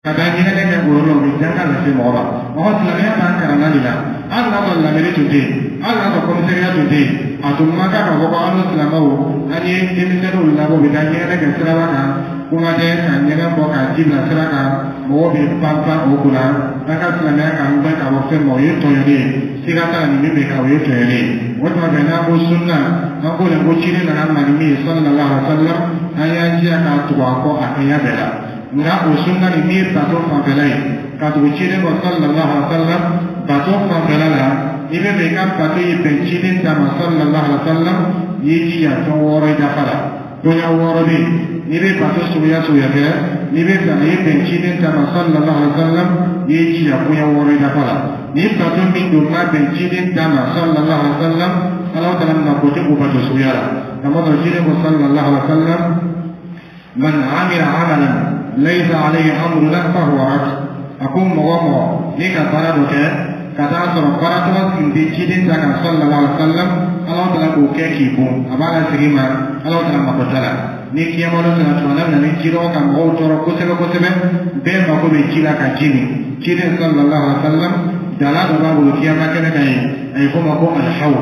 Ka taa ɲɛgɛnɛ kɛ o yɔrɔ la, o bɛ danga lase mɔgɔ ma. Mɔgɔ silamɛya b'an kalan de la. Hali n'a sɔrɔ lamɛnni tun tɛ yen, hali n'a sɔrɔ commissariat tun tɛ yen, a tun man kan k'a fɔ ko an ni silamɛw, an ye denmisɛnninw labɔ, u bɛ taa ɲɛgɛnɛ kɛ siraba kan. Kuma tɛ ka ɲɛgɛn bɔ k'a ji bila sira kan, mɔgɔw bɛ pan pan o kunna. An ka silamɛya k'an gbɛn ka bɔ fɛn ma, o ye tɔɲɔni ye. Siga t'a la, nin min bɛ kɛ, o ye tɔɲɔni ye. O tuma fɛ, n'an ko sunna, an ko de ko ciden nana na ni min ye, sallallahu alaihi wa sallam, an y'an jija k'a tugu a kɔ a kɛɲɛ bɛɛ la. Nka o sunna nin min ye bato fanfɛla ye, ka tugu ciden kɔ sallallahu alaihi wa sallam bato fanfɛla la, n'i bɛ fɛ i ka bato ye bɛn ciden ta ma sallallahu alaihi wa sallam, i y'i jija fɛn wɔɔrɔ i dafa la. Koɲa wɔɔrɔ bɛ yen, n'i bɛ bato suguya suguya kɛ, n'i bɛ fɛ a ye bɛn ciden ta ma sallallahu alaihi wa sallam, i y'i jija koɲa wɔɔrɔ i dafa la. Ni bato min don n'a bɛn ciden ta ma sallallahu alaihi wa sallam, Ala taala mako tɛ o bato suguya la. Kamasɔrɔ ciden ko sallallahu alaihi wa sallam: man amila amalan laysa alayhi amruna fahuwa rad. A ko mɔgɔ mɔgɔ n'i ka baara dɔ kɛ ka taa sɔrɔ baara tɔgɔ tun tɛ ciden ta kan sallallahu alaihi wa sallam, Ala taala k'o kɛ k'i bon, a b'a lasegin ma, Ala taala mako t'a la. Ni kiyama dɔ sera tuma min na, ni jidaw ka mɔgɔw tɔɔrɔ kosɛbɛ kosɛbɛ, bɛɛ mako bɛ ji la ka ji min, ciden sallallahu alaihi wa sallam dala dɔ b'a bolo kiyama kɛnɛ kan yen, a ye fɔ o ma ko alhaw.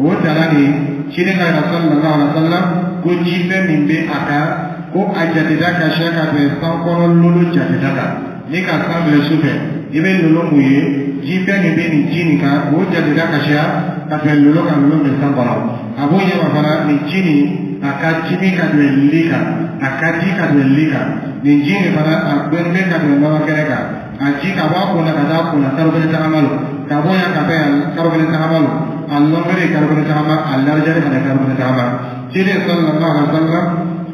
O dala nin, ciden ka yɛrɛ sallallahu alaihi wa sallam ko jifɛn min bɛ a kan, ko a jateda ka siya ka bɛn san kɔnɔ lolo jateda kan. Ni ka san filɛ su fɛ, i bɛ lolo mun ye, jifɛn min bɛ nin ji nin kan, o jateda ka siya ka bɛn lolo kan, lolo bɛ san kɔnɔ. A b'o ɲɛma fana, nin ji nin a ka timi ka bɛn li kan, a ka di ka bɛn li kan. Nin ji nin fana, a gbɛnnen bɛ ka bɛn nɔnɔ kɛnɛ kan. A ji ka bɔ a kun na ka taa a kun na, kalo kelen tagama lo, ka bɔ yan ka taa yan, kalo kelen tagama lo. A longueur ye kalo kelen tagama, a largeur fana ye kalo kelen tagama. Ciden sallallahu alaihi wa sallam,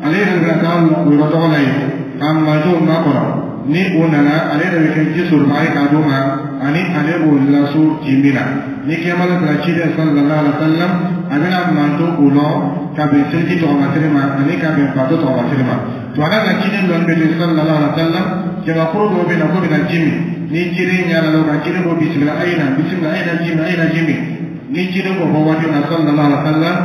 ale yɛrɛ bɛna taa o yɔrɔ tɔgɔ la yen k'a mantonw makɔnɔ. Ni o nana, ale yɛrɛ bɛ kɛ ji sɔrɔbaga ye k'a d'o ma, ani ale b'o laso ji min na. Ni kiyama la sera, ciden sallallahu alaihi wa sallam a bɛna manton o lɔ ka bɛn seliji tɔgɔmasiri ma ani ka bɛn bato tɔgɔmasiri ma. Tuma na ciden lɔnni bɛ to sallallahu alaihi wa sallam, jamakuru dɔw bɛ na ko bɛna ji min. Ni ciden ɲɛ la o kan, ciden ko: bisimila, a ye na, bisimila, a ye na ji min, a ye na ji min. Ni ciden k'o fɔ waati min na sallallahu alaihi wa sallam,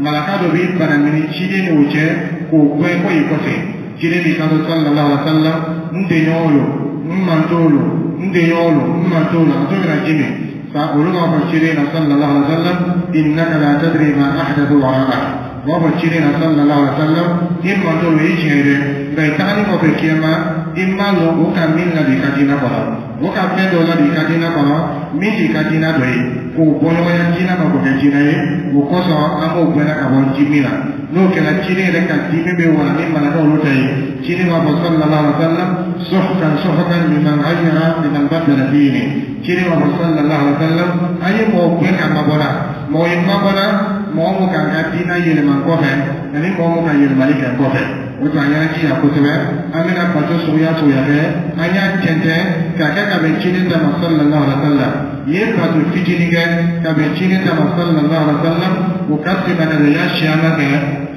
malaka dɔ b'i banamini ciden n'o cɛ k'o gɛn ko y'i kɔfɛ. Ciden b'i kanto sallallahu alaihi wa sallam: n denɲɔgɔnw lo, n mantonw lo, n denɲɔgɔnw lo, n mantonw lo, a to bɛna ji min. Fa olu b'a fɔ ciden na sallallahu alaihi wa sallam: innaka la tadri ma ahdathu wara'ak. U b'a fɔ ciden na sallallahu alaihi wa sallam: i mantonw lo, i tiɲɛ ye dɛ, nka i tagalen kɔfɛ kiyama, i m'a lɔn o ka min ladon i ka diinɛ kɔnɔ, o ka fɛn dɔ ladon i ka diinɛ kɔnɔ min t'i ka diinɛ dɔ ye, k'o bɔ ɲɔgɔnya diinɛ ma k'o kɛ diinɛ ye. O kosɔn an b'o gbɛnna ka bɔ ji min na. N'o kɛra, ciden yɛrɛ ka dimi bɛ wala ni malaka olu ta ye. Ciden b'a fɔ sallallahu alaihi wa sallam: suhkan suhkan liman ghayyara liman baddala dini. Ciden b'a fɔ sallallahu alaihi wa sallam: an ye mɔgɔ gbɛn ka mabɔ la, mɔgɔ ye mabɔ la, mɔgɔ mun k'an ka diinɛ yɛlɛma kɔfɛ ani mɔgɔ mun ka yɛlɛmali kɛ kɔfɛ. O tuma, an y'an jija kosɛbɛ, an bɛna bato suguya suguya kɛ, an y'a tɛntɛn k'a kɛ ka bɛn ciden ta ma sallallahu alaihi wa sallam. I ye bato fitinin kɛ ka bɛn ciden ta ma sallallahu alaihi wa sallam, o ka sema ka ya siyama kɛ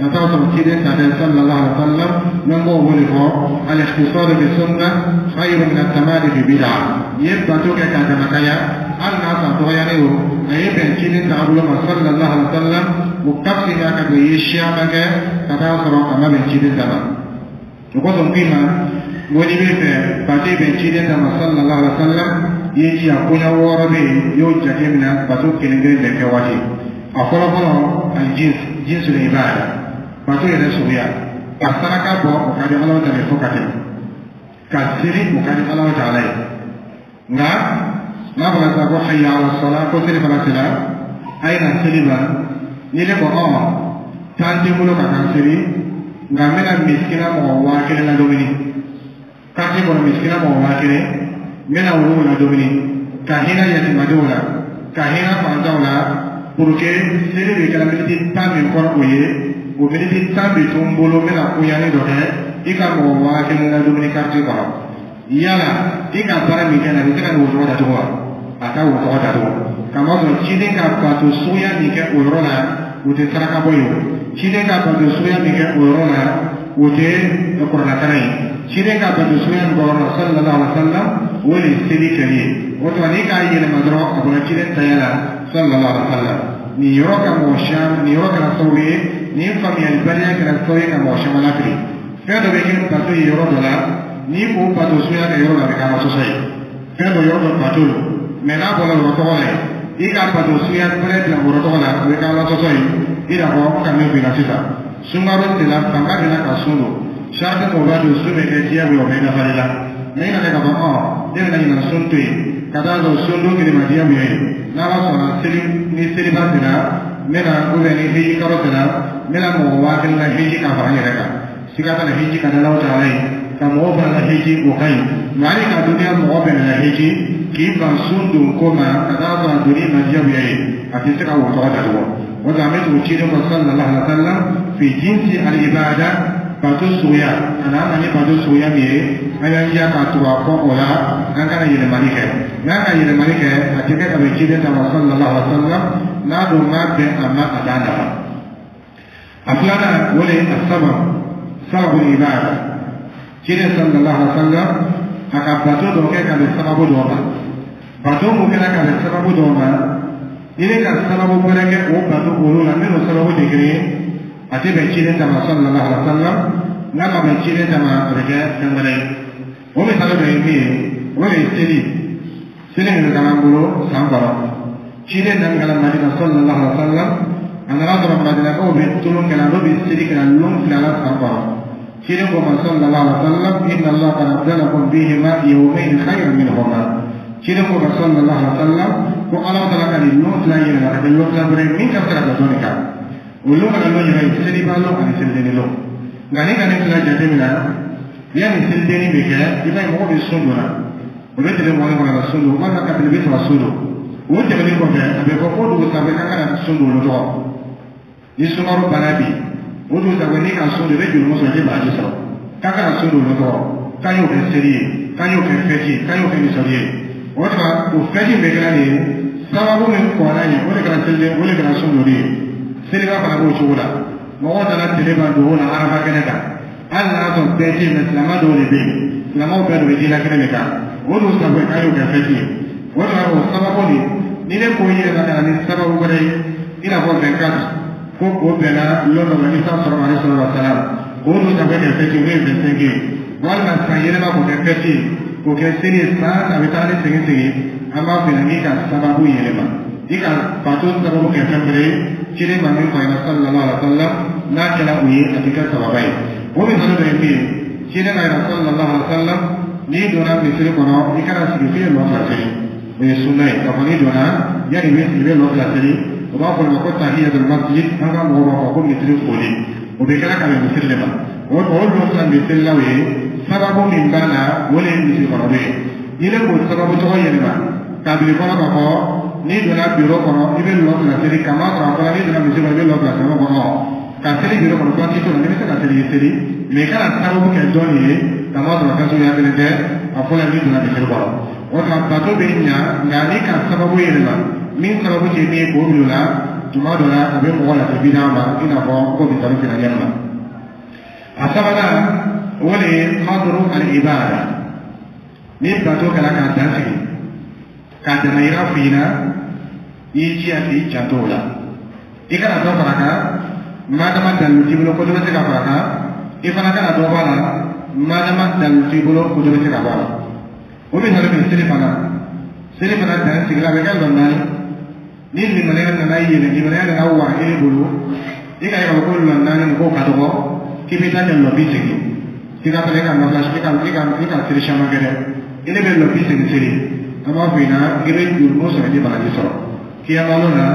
ka taa sɔrɔ ciden ta tɛ sallallahu alaihi wa sallam. N'an b'o wele fɔ al-ikhtisar bi sunna khayru min at-tamadi fi bid'a. I ye bato kɛ k'a damakaya, hali n'a sɔrɔ dɔgɔyalen o, a ye bɛn ciden taabolo ma sallallahu alaihi wa sallam, o ka fisa ka bɛn i ye siyama kɛ ka taa sɔrɔ a ma bɛn ciden ta ma. O kosɔn k'i ma n ko n'i bɛ fɛ bato bɛn ciden ta ma sallallahu alaihi wa sallam, i ye jija koɲa wɔɔrɔ bɛ yen, i y'o jate minɛ bato kelen kelen bɛɛ kɛ waati. A fɔlɔ fɔlɔ, al-jins, jinsul ibada, bato yɛrɛ suguya. Ka saraka bɔ, o ka di Ala ta ye fo ka tɛmɛ. Ka seli, o ka di Ala taala ye. Nka n'a fɔra sisan ko hayya ala sala, ko seli fana sera, a ye na seli ma, ni ne ko ɔ tan tɛ n bolo ka taa seli, nka n bɛna misikina mɔgɔ 1000 ladumuni quartier kɔnɔ, misikina mɔgɔ 1000, n bɛna olu ladumuni, ka hinɛ yatimadenw la, ka hinɛ fantanw la, pour que seli bɛ kɛra miniti 10 min kɔnɔ, o ye o miniti 10 bɛ to n bolo, n bɛna koɲani dɔ kɛ. I ka mɔgɔ 1000 ladumuni quartier kɔnɔ, yala i ka baara min kɛ nin, a bɛ se ka nin wo tɔgɔ datugu wa? A ka wo tɔgɔ datugu. Kamasɔrɔ ciden ka bato suguya min kɛ o yɔrɔ la, o tɛ saraka bɔ ye. O ciden ka bato suguya min kɛ o yɔrɔ la, o tɛ kuranɛkalan ye. Ciden ka bato suguya min kɛ o yɔrɔ la sallallahu alaihi wa sallam, o de ye seli kɛli ye. O tuma, n'i k'a yɛlɛma dɔrɔn, a bɔra ciden taya la sallallahu alaihi wa sallam. Nin yɔrɔ ka mɔgɔ caman, nin yɔrɔ kɛra sababu ye, nin faamuyalibaliya kɛra sababu ye ka mɔgɔ caman lafili. Fɛn dɔ bɛ kɛ bato ye yɔrɔ dɔ la. N'i k'o bato suguya kɛ yɔrɔ la, a bɛ kɛ Ala sɔsɔ ye. Fɛn dɔ, yɔrɔ dɔ bato lo, mɛ n'a bɔra yɔrɔ tɔgɔ la yen, i ka bato suguya wɛrɛ bila yɔrɔ tɔgɔ la, o bɛ kɛ Ala sɔsɔ ye. I n'a fɔ n ka min f'i ɲɛna sisan, sunkalo sera, fanga bɛ na ka sun don. Sarati mɔgɔ b'a don sun bɛ kɛ diyagoya, o bɛ nafali la. Mɛ i nana k'a fɔ ne bɛna ɲina sun to yen ka taa sɔrɔ sun don kelen ma diyagoya ye, n'Ala sɔnna, seli ni seliba sera, n bɛna, ou bien ni hiji kalo sera, n bɛna mɔgɔ 1000 la hiji ka fara n yɛrɛ kan. Siga t'a la, hiji ka di Alahu taala ye, ka mɔgɔw fana la hiji, o ka ɲi. Nka hali ka duniya mɔgɔ bɛɛ la hiji k'i ban sun don ko ma ka taa sɔrɔ a donni ma diyagoya ye, a tɛ se ka o tɔgɔ datugu. O la, an bɛ tugu ciden kɔ sallallahu alaihi wa sallam fi jinsi al ibada, bato suguya a n'an na ni bato suguya min ye, an y'an jija ka tugu a kɔ o la, an kana yɛlɛmali kɛ. N'an ka yɛlɛmali kɛ, a tɛ kɛ ka bɛn ciden ta ma sallallahu alaihi wa sallam. N'a dun ma bɛn a ma, a t'a nafa. A filanan, o de ye a sababu, sababu ibada. Ciden sallallahu alaihi wa sallam a ka bato dɔ kɛ ka bɛn sababu dɔ ma. Bato mun kɛra ka bɛn sababu dɔ ma, i bɛ ka sababu wɛrɛ kɛ o bato olu la minnu sababu tɛ kelen ye, a tɛ bɛn ciden ta ma sallallahu alaihi wa sallam. N'a ma bɛn ciden ta ma, a bɛ kɛ fɛn wɛrɛ ye. O misali dɔ ye min ye, o de ye seli. Seli min bɛ k'an bolo san kɔnɔ, ciden nana ka na Madina sallallahu alaihi wa sallam, a nana sɔrɔ Madinakaw bɛ tulon kɛla, n'o bɛ seli kɛla lon 2 la san kɔnɔ. Ciden ko ma sallallahu alaihi wa sallam: inna Allah qad abdalakum bihima yawmayn khayran minhuma. Ciden ko ma sallallahu alaihi wa sallam ko Ala taala ka nin lon 2 yɛlɛma ka kɛ lon 2 wɛrɛ min ka fisa ka dɔn nin kan. O lon kana lon yɛrɛ ye seliba lon ani selidenni lon. Nka ni ka nin fila jateminɛ, yanni selidenni bɛ kɛ, i b'a ye mɔgɔ bɛ sun don na, o bɛ tile 20 kɔnɔ ka sun don, walima ka tile 30 sun don. O tɛmɛnen kɔfɛ, a bɛ fɔ ko dugu sanfɛ k'an kana sun don olu tɔgɔ. Ni sunkalo banna bi, o dugu sanfɛ n'i ka sun don, i bɛ joli sɔrɔ, i tɛ baraji sɔrɔ. K'an kana sun don olu tɔgɔ, k'an y'o kɛ seli ye, k'an y'o kɛ fɛti ye, k'an y'o kɛ misali ye. O tuma, o fɛti bɛ kɛra nin ye, sababu min kɔnna ɲɛ, o de kɛra seliden, o de kɛra sun donni ye. Seliba fana b'o cogo la. Mɔgɔw nana tile ban dugu la Arafa kɛnɛ kan, hali n'a sɔrɔ bɛɛ tɛ yen, mɛ silamɛ dɔw de bɛ yen, silamɛw bɛɛ de bɛ ji la kɛnɛ de kan. O dun sanfɛ k'an y'o kɛ fɛti ye. O tuma, o sababu de, ni ne ko i yɛrɛ ka na ni sababu wɛrɛ ye, i n'a fɔ 24, ko o bɛnna lon dɔ ma Isa sɔrɔ alayhi salatu wa salam, k'o dun sanfɛ kɛ fɛti ye, o ye 25 ye, walima san yɛlɛma k'o kɛ fɛti ye, k'o kɛ seli ye, san a bɛ taa ni segin segin, an b'a f'i ɲɛna k'i ka sababu yɛlɛma, i ka bato sababu kɛ fɛn wɛrɛ ye ciden ma min fɔ a ɲɛna sallallahu alaihi wa sallam. N'a kɛra o ye, a tɛ kɛ sababa ye. O misali dɔ ye min ye, ciden ka yɛrɛ sallallahu alaihi wa sallam, n'i donna misiri kɔnɔ, i kana sigi f'i ye lɔ 2 seli. O ye sunna ye k'a fɔ n'i donna, yanni i bɛ sigi, i bɛ lɔ 2 seli. O b'a fɔ o ma ko tahiyatul masjid, an ka mɔgɔw b'a fɔ ko misiri foli. O bɛ kɛra ka bɛn misiri de ma. O lɔ 2 bɛ selilaw ye, sababu min b'a la, o de ye misiri kɔnɔ ye. N'i bɛ k'o sababu tɔgɔ yɛlɛma k'a bila i kɔnɔ k'a fɔ n'i donna biro kɔnɔ, i bɛ lɔ 2 seli, k'a ma sɔrɔ a fɔra n'i donna misiri kɔnɔ, i bɛ lɔ 2 seli kɔnɔ, ka seli biro kɔnɔ, baasi t'o la. N'i bɛ se ka seli, i seli, mɛ i kana sababu kɛ dɔ nin ye, k'a ma sɔrɔ fɛn suguya kelen tɛ a fɔlɔ n'i donna misiri kɔnɔ. O tuma, bato bɛ ɲa, nka n'i ka sababu yɛlɛma min sababu tɛ min ye k'o bila o la, tuma dɔ la a bɛ mɔgɔ lase bida ma, i n'a fɔ ko misali fila ɲɛ ma. A sabanan, o de ye qadru al ibada. Ni bato kɛra k'a dan sigi, k'a damayira f'i ɲɛna, i y'i jija k'i janto o la, i kana dɔ fara kan madama dalilu t'i bolo ko dɔ bɛ se ka fara kan. I fana kana dɔ bɔ a la madama dalilu t'i bolo ko dɔ bɛ se ka bɔ a la. O misali min, seli fana, seli fana dan sigila, a bɛ kɛ lɔ 4. Ni limaniya nana yɛlɛ, limaniya nana wa e bolo, i ka ye k'a fɔ ko lɔ 4 nin k'o ka dɔgɔ, k'i bɛ taa kɛ lɔ 80, k'i ka fana i ka nafila, i ka seli caman kɛ dɛ, i ne bɛ lɔ 80 seli, an b'a fɔ i ɲɛna k'i bɛ jurumu sɔrɔ, i tɛ baraji sɔrɔ. Kiyama lon na,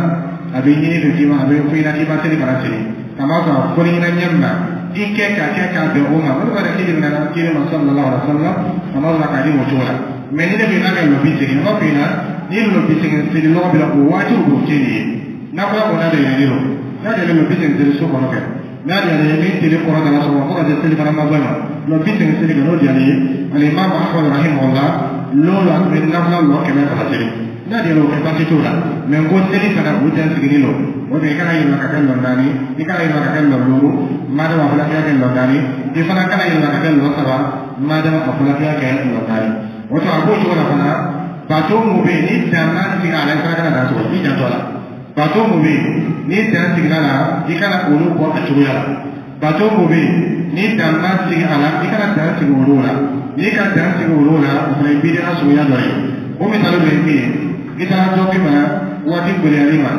a bɛ ɲini fɛ k'i ma, a bɛ fɔ i ɲɛna k'i ma seli fana seli, k'a ma sɔrɔ a fɔli ɲɛna ɲɛ min na, i kɛ ka kɛ k'a bɛn o ma, o de b'a k'i ɲininka k'i ma sallallahu alaihi wa sallam, a ma sɔrɔ k'a di o cogo la. Mɛ ni ne ko i n'a kɛ lɔ 80, an b'a fɔ i ɲɛna ni lɔ 80 seli lɔgɔ bɛ la, o waati o tɛ nin ye. N'a fɔra ko n'a de yɛlɛlen don, n'a yɛlɛlen don, 80 seli so kɔnɔ kɛ, n'a diyara ye, ni tele kɔrɔ dara sɔgɔma fo ka se seli fana ma bɔ ma, lɔ 80 seli kɛ, n'o diyara ye. Alimami Ahmad rahimahullah, lon la a tun bɛ nafila lɔ 100 seli. N'a diyara o kɛ, baasi t'o la. Mɛ n ko seli fana, o dan sigilen don. O de, i kana yɛlɛma ka kɛ lɔ 4, i kana yɛlɛma ka kɛ lɔ 5 madama a fɔra k'i ka kɛ lɔ 4. I fana kana yɛlɛma ka kɛ lɔ 3 madama a fɔra k'i ka kɛ lɔ 4. O tuma, a b'o cogo la fana. Bato mun bɛ yen ni dan ma sigi a la, i fana kana dan sɔrɔ, i janto a la. Bato mun bɛ yen ni dan sigira la, i kana olu bɔ a cogoya la. Bato mun bɛ yen ni dan ma sigi a la, i kana dan sigi olu la. N'i ka dan sigi olu la, o fana ye bidiya suguya dɔ ye. O misali dɔ ye min ye, i taara dɔ k'i ma waati gɛlɛyali ma,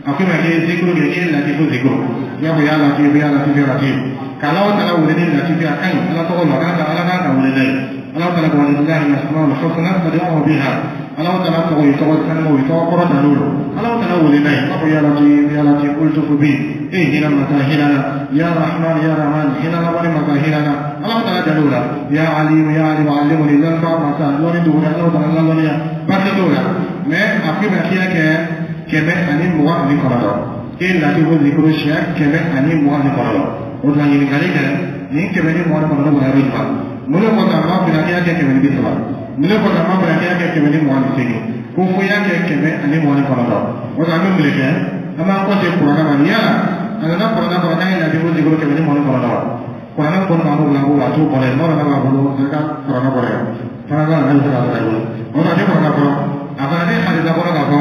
a ko i ma k'i ye zikuru kɛ, k'i ye latifu zikuru, i b'a fɔ ya latifu, ya latifu, ya latifu, k'Alahu taala wele ni latifu ye. A ka ɲi, Ala tɔgɔ la, a kan ka Ala kan ka wele n'a ye. Alahu taala ko walillahi al-asmaul husna fad'uhu biha. Alahu taala tɔgɔ ye tɔgɔ sanumaw ye, tɔgɔ kɔrɔ ta n'o ye. Alahu taala wele n'a ye, i b'a fɔ ya latif, ya latif, ultufu bi, e hinɛ masa, hinɛ na, ya rahman, ya rahman, hinɛ na wali masa, hinɛ na. Alahu taala jal'o la, ya alim, ya alim, alimuni, lɔnniba masa, lɔnni dogo Alahu taala lalɔnniya, baasi t'o la. Mais a ko i ma k'i y'a kɛ 129, k'e latifu zikuru siɲɛ 129. O tuma ɲininkali kɛ, nin 129 bɔra yɔrɔ jumɛn? Mun de kosɔn a m'a f'i ɲɛna k'i y'a kɛ 130? Mun de kosɔn a m'a f'i ɲɛna k'i y'a kɛ 128? Ko fo i y'a kɛ 129. O tuma an bɛ mun de kɛ? An b'an kɔse kuranɛ ma. Yala a nana kuranɛ kɔnɔ k'an ye latifu zikuru 129 wa? Kuranɛ kɔnɔ b'an bolo, a b'o a t'o kɔnɔ yen. N'o nana b'a bolo, a ka kuranɛ kɔnɔ yen fana b'a la, n'a bɛ se k'a sɔrɔ i bolo. O tuma a tɛ kuranɛ kɔnɔ, a fana tɛ hadisa kɔnɔ k'a fɔ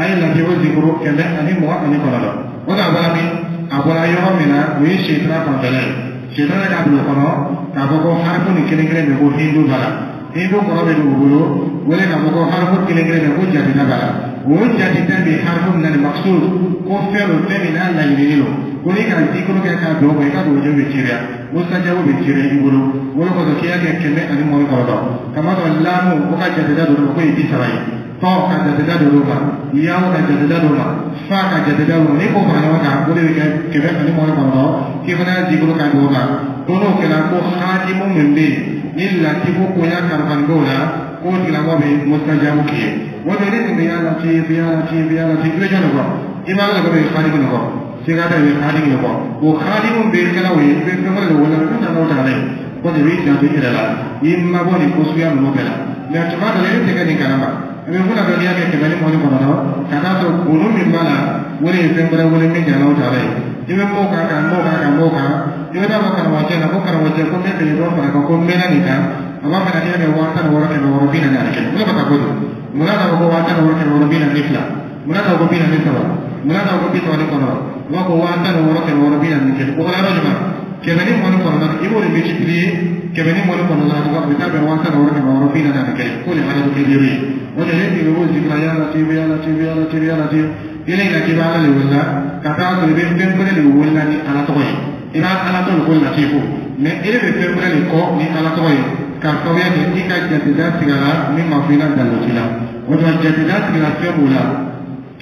a ye latifu zikuru 129. O tuma a bɔra min? A bɔra yɔrɔ min na, o ye sitana fanfɛla ye. Sitana k'a bila o kɔnɔ k'a fɔ ko harifu nin kelen kelen bɛ ko hindu b'a la, hindu kɔrɔ bɛ dugu bolo wele k'a fɔ ko harifu kelen kelen bɛ ko jateda b'a la. O jateda bɛ harifu min na nin maksud ko fɛn don, fɛn min n'a laɲininen don, ko n'i ka zikuru kɛ k'a don o kan, i ka dugujɛ bɛ ceriya, musajabu bɛ ceriya i bolo. O de kosɔn k'i y'a kɛ 129. Kamasɔrɔ laamu o ka jateda don o ma k'o ye 30 ye, tɔ ka jateda don o ma, yawo ka jateda don o ma, fa ka jateda don o ma. N'i k'o fara ɲɔgɔn kan, o de bɛ kɛ 129. K'i fana y'a zikuru k'a don o kan, ko n'o kɛra, ko hadimu min bɛ yen ni latifu koya kalifani b'o la, k'o tigilamɔgɔ bɛ musajabu k'i ye. O de ne tun bɛ ya latif, ya latif, ya latif, i bɛ jɔn de kɔ? I b'a la ko bɛ hadimu de kɔ, siga t'a, i bɛ hadimu de kɔ. O hadimu bɛ kɛla o ye, i bɛ fɛn wɛrɛ de wele ko n'o ta ye ko de b'i janto i yɛrɛ la, i mabɔ nin ko suguya ninnu bɛɛ la. Mɛ tuma dɔ la, e tɛ kɛ nin kalama, i bɛ funa dɔ n'i y'a kɛ 129, ka taa sɔrɔ kunu min b'a la, o de ye fɛn wɛrɛ wele min tɛ Alahu taala ye. I bɛ m'o kan ka m'o kan ka m'o kan, i bɛ taa fɔ karamɔgɔcɛ la ko karamɔgɔcɛ, ko n bɛ fɛ dɔ fara kan, ko n mɛnna nin kan. A b'a fɛ ka kɛ 16641. O de bɛ ka ko don. Munna k'a fɔ ko 16642? Munna k'a fɔ ko 43? Munna k'a fɔ ko 39? U b'a fɔ 16641. O kɔrɔ yɔrɔ jumɛn? 129, i b'o de multiplier 129 a bɛ taa bɛn 16641, k'o de ye adadu kelen ye. O de ye ne b'o zikira ya latif, ya latif, ya latif, ya latif. I la k'i bɛ Ala de wele ka taa sɔrɔ i bɛ fɛn wɛrɛ de wele ni Ala tɔgɔ ye. I b'a Ala tɔgɔ de ko latifu, mɛ e bɛ fɛn wɛrɛ de kɔ ni Ala tɔgɔ ye, k'a sababuya kɛ i ka jateda sigara min ma fɔ i la dalilu t'i la. O tuma jateda sigara fɛn b'o la,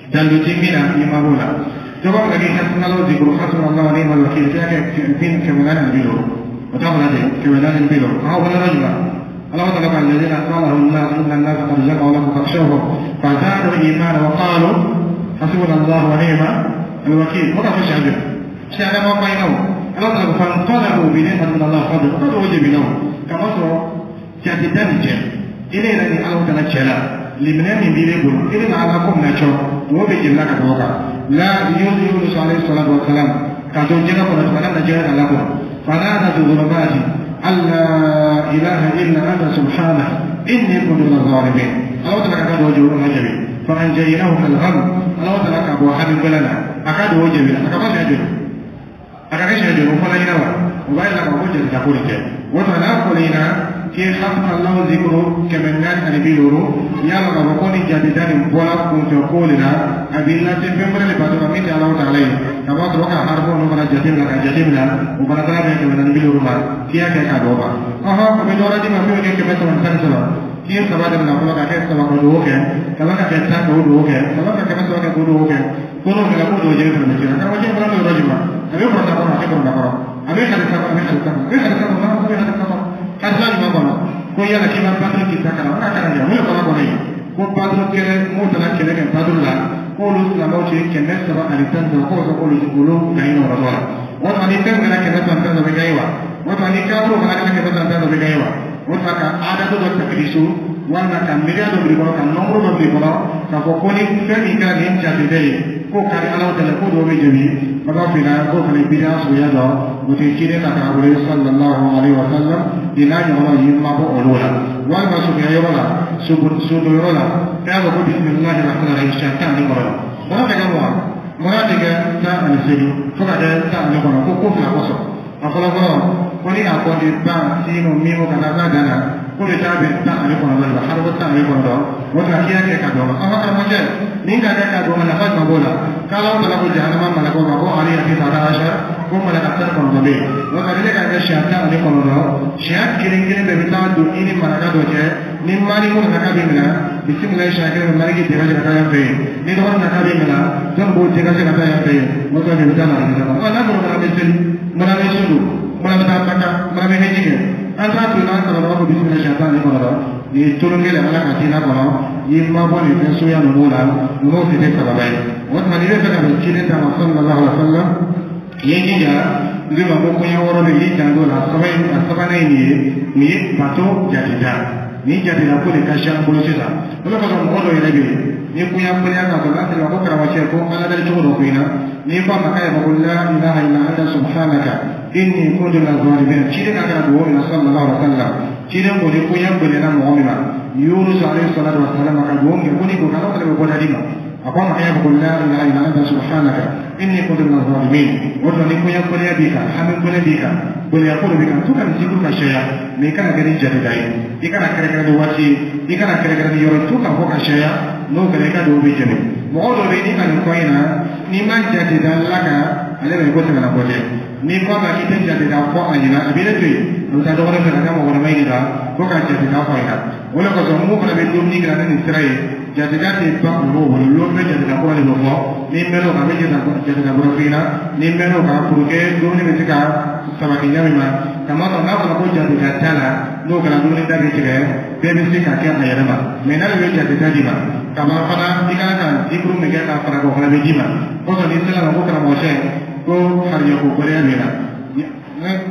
dalilu ti min na, i ma b'o la. Cogo min na k'i hasbunallahu zikuru, hasbunallahu wa ni'mal wakil, k'i y'a kɛ 450, o t'a fɔla ten 450. An ka bɔ yɔrɔ jumɛn? الله تعالى قال الذين قال لهم الناس إن الناس قد جمعوا لكم فاخشوهم فزادوا إيمانا وقالوا حسبنا الله ونعم الوكيل. وقع في شعبه شعب ما بينهم الله تعالى فانقلبوا بنعمة من الله فضل وقد وجب لهم كما سوى جاتدان جل إلينا أن الله تعالى جل لمن من بيقول إلينا على قوم نشو وبيجي لك توقع لا يونس عليه الصلاة والسلام كاتو جل قرأت فلم نجد لكم فنادى في الظلمات أن لا إله إلا أنت سبحانه إني كنت من الظالمين. الله تعالى كاد وجه النجم فأنجيناه من الغم. الله تعالى كأبو حبيب بلنا أكاد وجه بلنا أكاد يجري أكاد يجري وفلا ينوى وبعد لما وجه تقول كه وتناقلنا كي حسن الله ذكره كمن نان أن بيلورو يا رب بكون جديدان بولا كنت قولنا أبي الله تفهم لبعض من الله تعالى كما تروك حربون وبنا جديدنا كجديدنا وبنا ترى كمن بيلورو ما كيا كادوبا أها كمن دورة دي ما فيه كمن سبعة سنة كي سبعة من أقوى كي سبعة كدوه كي كما كي سبعة كدوه كي كما كي سبعة كدوه كي كلهم كلا كدوه جيل في المسجد كما جيل برا الرجل أبي برا تقرأ أبي برا تقرأ أبي خلي سبعة أبي خلي سبعة أبي خلي سبعة أبي خلي سبعة karisa jumɛn kɔnɔ ko yala k'i ma baduru k'i ta kalan o ka kalan kɛ mun ye kɔnɔ kɔnɔ ye ko baduru kɛlɛ mun taara kɛlɛ kɛ baduru la k'olu silamɛw ci 313, k'o fɔ k'olu olu gaɲi nɔ la. O tuma ni fɛn kɛra 313 bɛ gaɲi wa? O tuma ni kafiriw fana kɛra 313 bɛ gaɲi wa? O tuma ka adadu dɔ takirisu walima ka miiriya dɔ bil'i kɔnɔ, ka nɔnburu dɔ bil'i kɔnɔ k'a fɔ ko ni fɛn min kɛra nin jate ye k'o ka di Ala tɛlɛ ko dɔw bɛ jɛbi baba fina k'o fana bidiya suguya dɔ o tɛ ciden ka taga bolo sallallahu alaihi wa sallam nin n'a ɲɔgɔnnaw y'i mabɔ olu la. Walima suguya yɔrɔ la, sodon yɔrɔ la, e y'a fɔ ko bisimilahi rahmani rahim siɲɛ 19, mɔgɔ tɛ kɛ mugan, mɔgɔ tɛ kɛ 18 fo ka kɛ 19, ko ko fila kosɔn. A fɔlɔ fɔlɔ ko ni a kɔni ban sinu mimu ka taa s'a dan na. Ko bɛ taa bɛn 19 de la, harafu 19. O tuma k'i y'a kɛ ka dɔn ma. An ka karamɔgɔcɛ, nin ka kɛ ka dɔn ma, nafa jumɛn b'o la? K'Ala tala ko jahanama malakaw ma ko ale y'a kɛ ta ko malaka 19 bɛ yen. O tuma ni ne ka kɛ siɲɛ 19, siɲɛ kelen kelen bɛɛ bɛ taa don i ni malaka dɔ cɛ. Ni Maliku nana k'a bɛ minɛ, bisimila, siɲɛ kelen bɛ Maliki dégagé ka taa yan fɛ yen. Ni dɔgɔnin nana k'a bɛ minɛ, jɔnni b'o dégagé ka taa yan fɛ yen? O tuma de bɛ taa na kɔnɔ. N'a fɔra mana bɛ seli, mana bɛ sun don, mana bɛ taa Maka, mana bɛ hiji kɛ, an t'a to n'an karamɔgɔ ko bisimila siɲɛ 19. Nin ye tolon kelen Ala ka diinɛ kɔnɔ. I ma bɔ nin fɛn suguya ninnu la, ninnu tɛ kɛ sababa ye. O tuma n'i bɛ fɛ ka bɛn ciden ta ma sallallahu alaihi wa sallam, i ye jija. N ko ma ko koɲɛ wɔɔrɔ bɛ yen, i janto la. Saba in, a sabanan ye nin ye. Nin ye bato jateda. Nin jateda ko de ka si an bolo sisan. O de kosɔn mɔgɔ dɔw yɛrɛ bɛ yen, ni koɲɛ koɲɛ ka sɔrɔ n'a sera ko karamɔgɔcɛ ko ala dali cogo dɔ ko in na, n'i ko a ma k'a yɛrɛ ko la ilaha illa anta subhanaka inni kuntu minaz zalimin, ciden ka kɛra dugawu min na sallallahu alaihi wa sallam, ciden ko ni koɲɛ gɛlɛyara mɔgɔ min ma, Yunus alayhi salatu wa salam ka dugawu kɛ ko ni ko k'Ala fana bɛ bɔda di ma. A ko a ma k'a fɔ ko la ilaha illa anta subhanaka inni kuntu minaz zalimin. O tuma ni koɲɛ gɛlɛya b'i kan, hami gɛlɛya b'i kan, gɛlɛya ko dɔ b'i kan, to ka nin zikuru ka caya. Mɛ i kana kɛ ni jateda ye, i kana kɛrɛnkɛrɛn ni waati ye, i kana kɛrɛnkɛrɛn ni yɔrɔ, to ka fɔ ka caya. N'o kɛra, i ka dugawu bɛ jaabi. Mɔgɔ dɔ bɛ yen, n'i ka nin kɔ in na, n'i ma jateda la kan, ale bɛ ko tɛmɛna kɔ dɛ. N'i ko a ma k'i tɛ jateda fɔ a ɲɛna, a b'i ne to yen, a bɛ taa dɔgɔnin fɛ ka taa mɔgɔ wɛrɛ ɲininka ko ka jateda fɔ a ɲɛna. O de kosɔn mun fana bɛ dumuni kɛ ni nin sira ye, jateda tɛ ban olu bolo. Lon bɛ jateda kura de bɛ fɔ. Ni mɛn'o kan, a bɛ jateda kura f'i ɲɛna. Ni mɛn'o kan, pour que dumuni bɛ se ka sabati ɲɛ min ma. Kamasɔrɔ n'a fɔra ko jateda t'a la, n'o kɛra dumuni da bɛ tigɛ, bɛɛ bɛ se ka kɛ a yɛrɛ ma. Mɛ n'ale bɛ jateda d'i ma kaban fana, i kan ka zikuru min kɛ k'a fara o fana bɛ d'i ma. Kosɔn n'i sera ma ko karamɔgɔcɛ ko harijɛ ko gɛlɛya b'i la,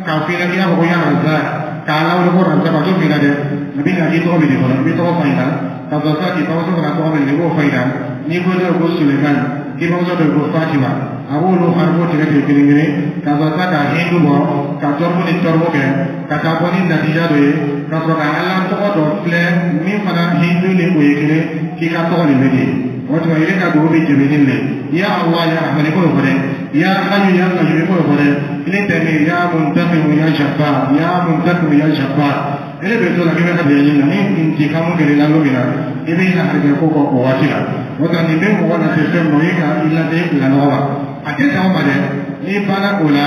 k'a f'i ɲɛna k'i y'a fɔ ko ya Razak, k'a lawuli ko Razak, a t'o f'i ɲɛna dɛ. A bɛ na k'i tɔgɔ bɛ di fɔlɔ, i bɛ tɔgɔ fɔ a ɲɛna ka sɔrɔ sisan k'i bamuso fana tɔgɔ bɛ di, i b'o fɔ a ɲɛna. N'i ko dɔw ko Suleiman, k'i bamuso dɔw ko Fatima, a b'olu haribo tigɛ tigɛ kelen kelen ka sɔrɔ sisan ka hindu bɔ, ka tɔrɔbu ni tɔrɔbu kɛ ka taa bɔ ni natija dɔ ye, ka sɔrɔ ka Ala tɔgɔ dɔ filɛ min fana hindu ni o ye kelen, k'i ka tɔgɔ de bɛ di. O tuma i ka dugawu bɛ jɛbɛ ni le ya Allah ya Rahman, i b'o fɔ dɛ. Ya Hayyu ya Qayyum, i b'o fɔ dɛ. Ile tɛ min ya Muntaqimu ya Jabbar, ya Muntaqimu ya Jabbar. Ele bɛ to la k'i bɛ ka ɲini na ni intikamu kɛra i la don min na, i bɛ na harijɛ ko kɔ o waati la. O tuma nin bɛ mɔgɔ lase fɛn min ma, o ye ka i lase lanɔgɔ ma. A tɛ sɔn o ma dɛ. N'i banna o la,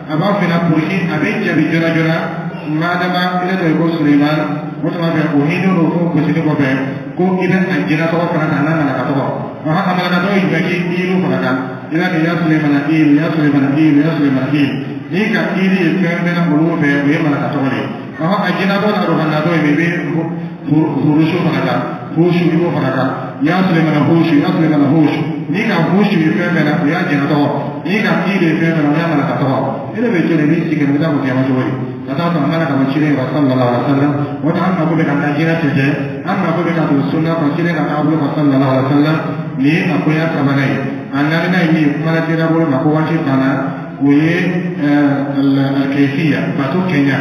a b'a f'i ɲɛna pour que a bɛ jaabi joona joona. Madama ile tɔgɔ ye ko Suleiman, o tuma fɛ o hinɛ n'o ko gosili kɔfɛ ko i bɛ a jinɛ tɔgɔ fana ta n'a malaka tɔgɔ. A malaka tɔgɔ ye jumɛn? K'i ilu fana kan, i b'a kɛ ya Sulemana ilu, ya Sulemana ilu, ya Sulemana ilu. N'i ka iri ye fɛn fɛn na olu fɛ, o ye malaka tɔgɔ de ye. A jinɛ tɔgɔ n'a dɔn tɔgɔ ye, i bɛ furusu fana kan, furusu i b'o fana kan, ya Sulemana husu, ya Sulemana husu. N'i ka husu ye fɛn fɛn na, o y'a jinɛ tɔgɔ. N'i ka iri ye fɛn fɛn na, o y'a malaka tɔgɔ. E de bɛ to de, i b'i sigi i bɛ taa fɔ kiyama cogo di ka taa sɔrɔ mana ka bɔ ciden yɔrɔ sallallahu alaihi wa sallam. O tɛ an mako bɛ ka taa jinɛ tɛ, an mako bɛ ka don sunna kɔ, ciden ka taabolo kɔ sallallahu alaihi wa sallam. Nin ye a koɲɛ sabanan ye. A naaninan ye min ye, kuma la teliya bolo ma ko waati banna, o ye alkayfiya, bato kɛɲa,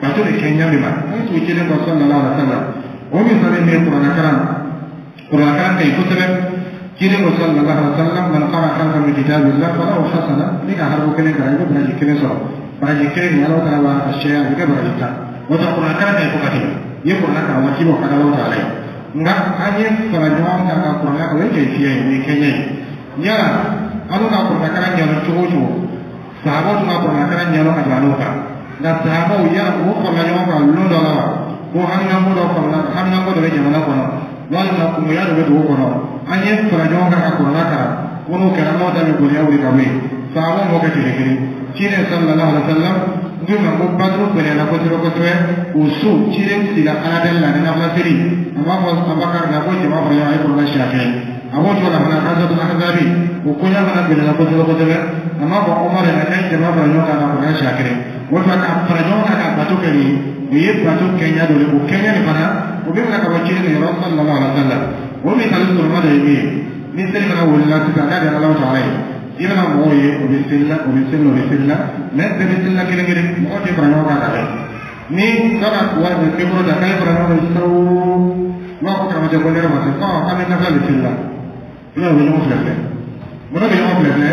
bato de kɛɲa min ma an tugu ciden kɔ sallallahu alaihi wa sallam. O misali min ye kuranɛ kalan, kuranɛ kalan ka ɲi kosɛbɛ. Ciden ko sallallahu alaihi wa sallam, man qara harfan min kitabillah falahu hasana. Ni ka harafu kelen kalan, i bɛ baraji kelen sɔrɔ. Baraji kelen nin, Ala taala b'a sɛya, a bɛ kɛ baraji 10. O tɛ kuranɛ kalan ka ɲi fo ka tɛmɛ. I ye kuranɛ kalan waati bɔ ka Ala taala ye. Nka an ye fara ɲɔgɔn kan ka kuranɛ kalan, o ye kɛfiya ye, o ye kɛɲɛ ye. Yala an ka kuranɛ kalan ɲɛdɔn cogo o cogo, sahabaw tun ka kuranɛ kalan ɲɛdɔn ka tɛmɛ n'o kan. Nka sahabaw, yala o farala ɲɔgɔn kan lon dɔ la wa? Ko haminanko dɔ farala, haminanko dɔ bɛ jamana kɔnɔ, walima kungoya dɔ bɛ dugu kɔnɔ, an ye fara ɲɔgɔn kan ka kuranɛ kalan. Ko n'o kɛra, n'o da bɛ gɔlɛya wuli ka bɔ yen. Sahabaw m'o kɛ tile kelen. Ciden sallallahu alaihi wa sallam n ma ko Baduru gɛlɛyara kosɛbɛ kosɛbɛ. O so ciden sila Ala deli la ni nafila seli. A b'a fɔ Abakar la ko jama fara ɲɔgɔn kan, a ye kuranɛ siɲɛ kelen. A b'o cogo la fana, Hazatul Ahzabi o koɲɛ fana gɛlɛyara kosɛbɛ kosɛbɛ. A m'a fɔ Umar yɛrɛ k'a ye jama fara ɲɔgɔn kan ka kuranɛ siɲɛ kelen. O tuma ka fara ɲɔgɔn kan ka bato kɛ nin, o ye bato kɛɲɛ dɔ ye. O kɛɲɛ nin fana, o bɛ minɛ ka bɔ ciden yɔrɔ sallallahu alaihi wa sallam. O misali sɔrɔma dɔ ye min ye, ni seli fana wulila sisan k'a di Ala taala ye, i bɛna mɔgɔw ye, o bɛ seli la, o bɛ seli la, o bɛ seli la, mɛ bɛɛ bɛ seli la kelen kelen, mɔgɔ tɛ fara ɲɔgɔn kan ka kɛ. Ni dɔ ka wari bɛ micro ta k'a ye fara ɲɔgɔn kan sawo, u b'a fɔ karamɔgɔcɛ ko ne yɛrɛ ma se, ɔ k'an bɛ nafila de seli la. I b'a ye u bɛ ɲɔgɔn filɛ filɛ, mɔgɔ bɛ ɲɔgɔn filɛ filɛ,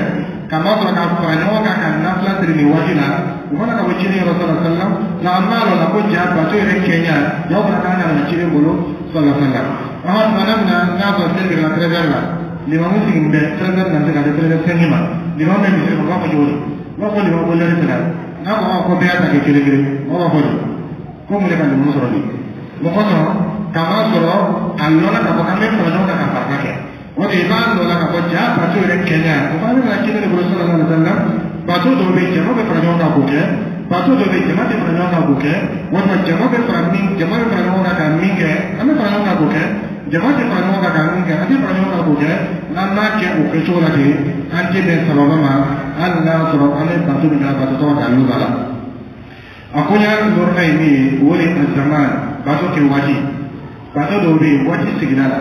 k'a ma sɔrɔ ka fara ɲɔgɔn kan ka nafila seli nin waati la. U mana ka bɔ ciden yɔrɔ sallallahu alaihi wasallam, nka an b'a lɔn la ko ja bato yɛrɛ kɛɲa jaw fana kan ka na ciden bolo sallallahu alaihi wasallam. An ka tuma min na n'a sɔrɔ seli bɛ ka 13h la, limamu sigilen bɛ 13h na se ka se 13h05 ma, limamu bɛ misiri kɔnɔ, u b'a fɔ cogo di? U b'a fɔ limamu ko lɛri sera. N'a ko ko bɛɛ y'a ta kɛ kelen kelen, mɔgɔ b'a fɔ di ko mun de ka limamu sɔrɔ bi? Mɔgɔ sɔrɔ k'a sɔrɔ a lɔnna k'a fɔ k'an bɛ fara ɲɔgɔn kan ka farida kɛ. O de i b'a lɔn k'a fɔ ja bato yɛrɛ kɛɲa o fana bɛ na ciden de bolo sallallahu alaihi wasallam. Bato dɔw bɛ yen, jama bɛ fara ɲɔgɔn kan k'o kɛ. Bato dɔw bɛ yen, jama tɛ fara ɲɔgɔn kan k'o kɛ. Walima jama bɛ fara min, jama bɛ fara ɲɔgɔn kan ka min kɛ, an bɛ fara ɲɔgɔn kan k'o kɛ. Jama tɛ fara ɲɔgɔn kan ka min kɛ, an tɛ fara ɲɔgɔn kan k'o kɛ. N'an m'a kɛ o kɛcogo la ten, an tɛ bɛn sababa ma, hali n'a sɔrɔ an bɛ bato min kɛ, bato tɔgɔ dalilu b'a la. A koɲa dɔrɔn ye min ye, o de ye zaman bato kɛ waati. Bato dɔw bɛ yen, waati sigira la,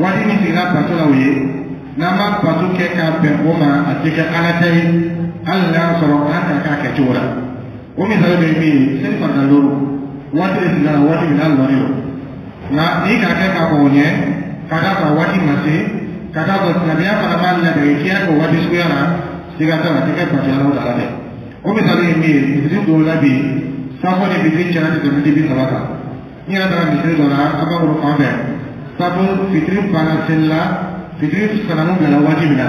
waati min sigira bato la, o ye n'an ma bato kɛ k'a bɛn o ma, a tɛ kɛ Ala ta ye, hali n'a sɔrɔ an ka k'a kɛcogo la. O misali dɔ ye min ye, seli farida 5, waati de sigira la, waati min n'a lɔnnen don. Nka n'i k'a kɛ k'a kɔn o ɲɛ, ka d'a kan waati ma se, ka d'a kan silamɛya fana b'a ladege k'i y'a kɛ o waati suguya la, siga t'a la, a tɛ kɛ bato Ala ta la dɛ. O misali ye min ye, misiri dɔw la bi, safo ni fitiri cɛla tɛ tɛmɛ 30 kan. N yɛrɛ taara misiri dɔ la an b'a bolo fan fɛ, safo fitiri banna seli la, fitiri sanamu bilala waati min na,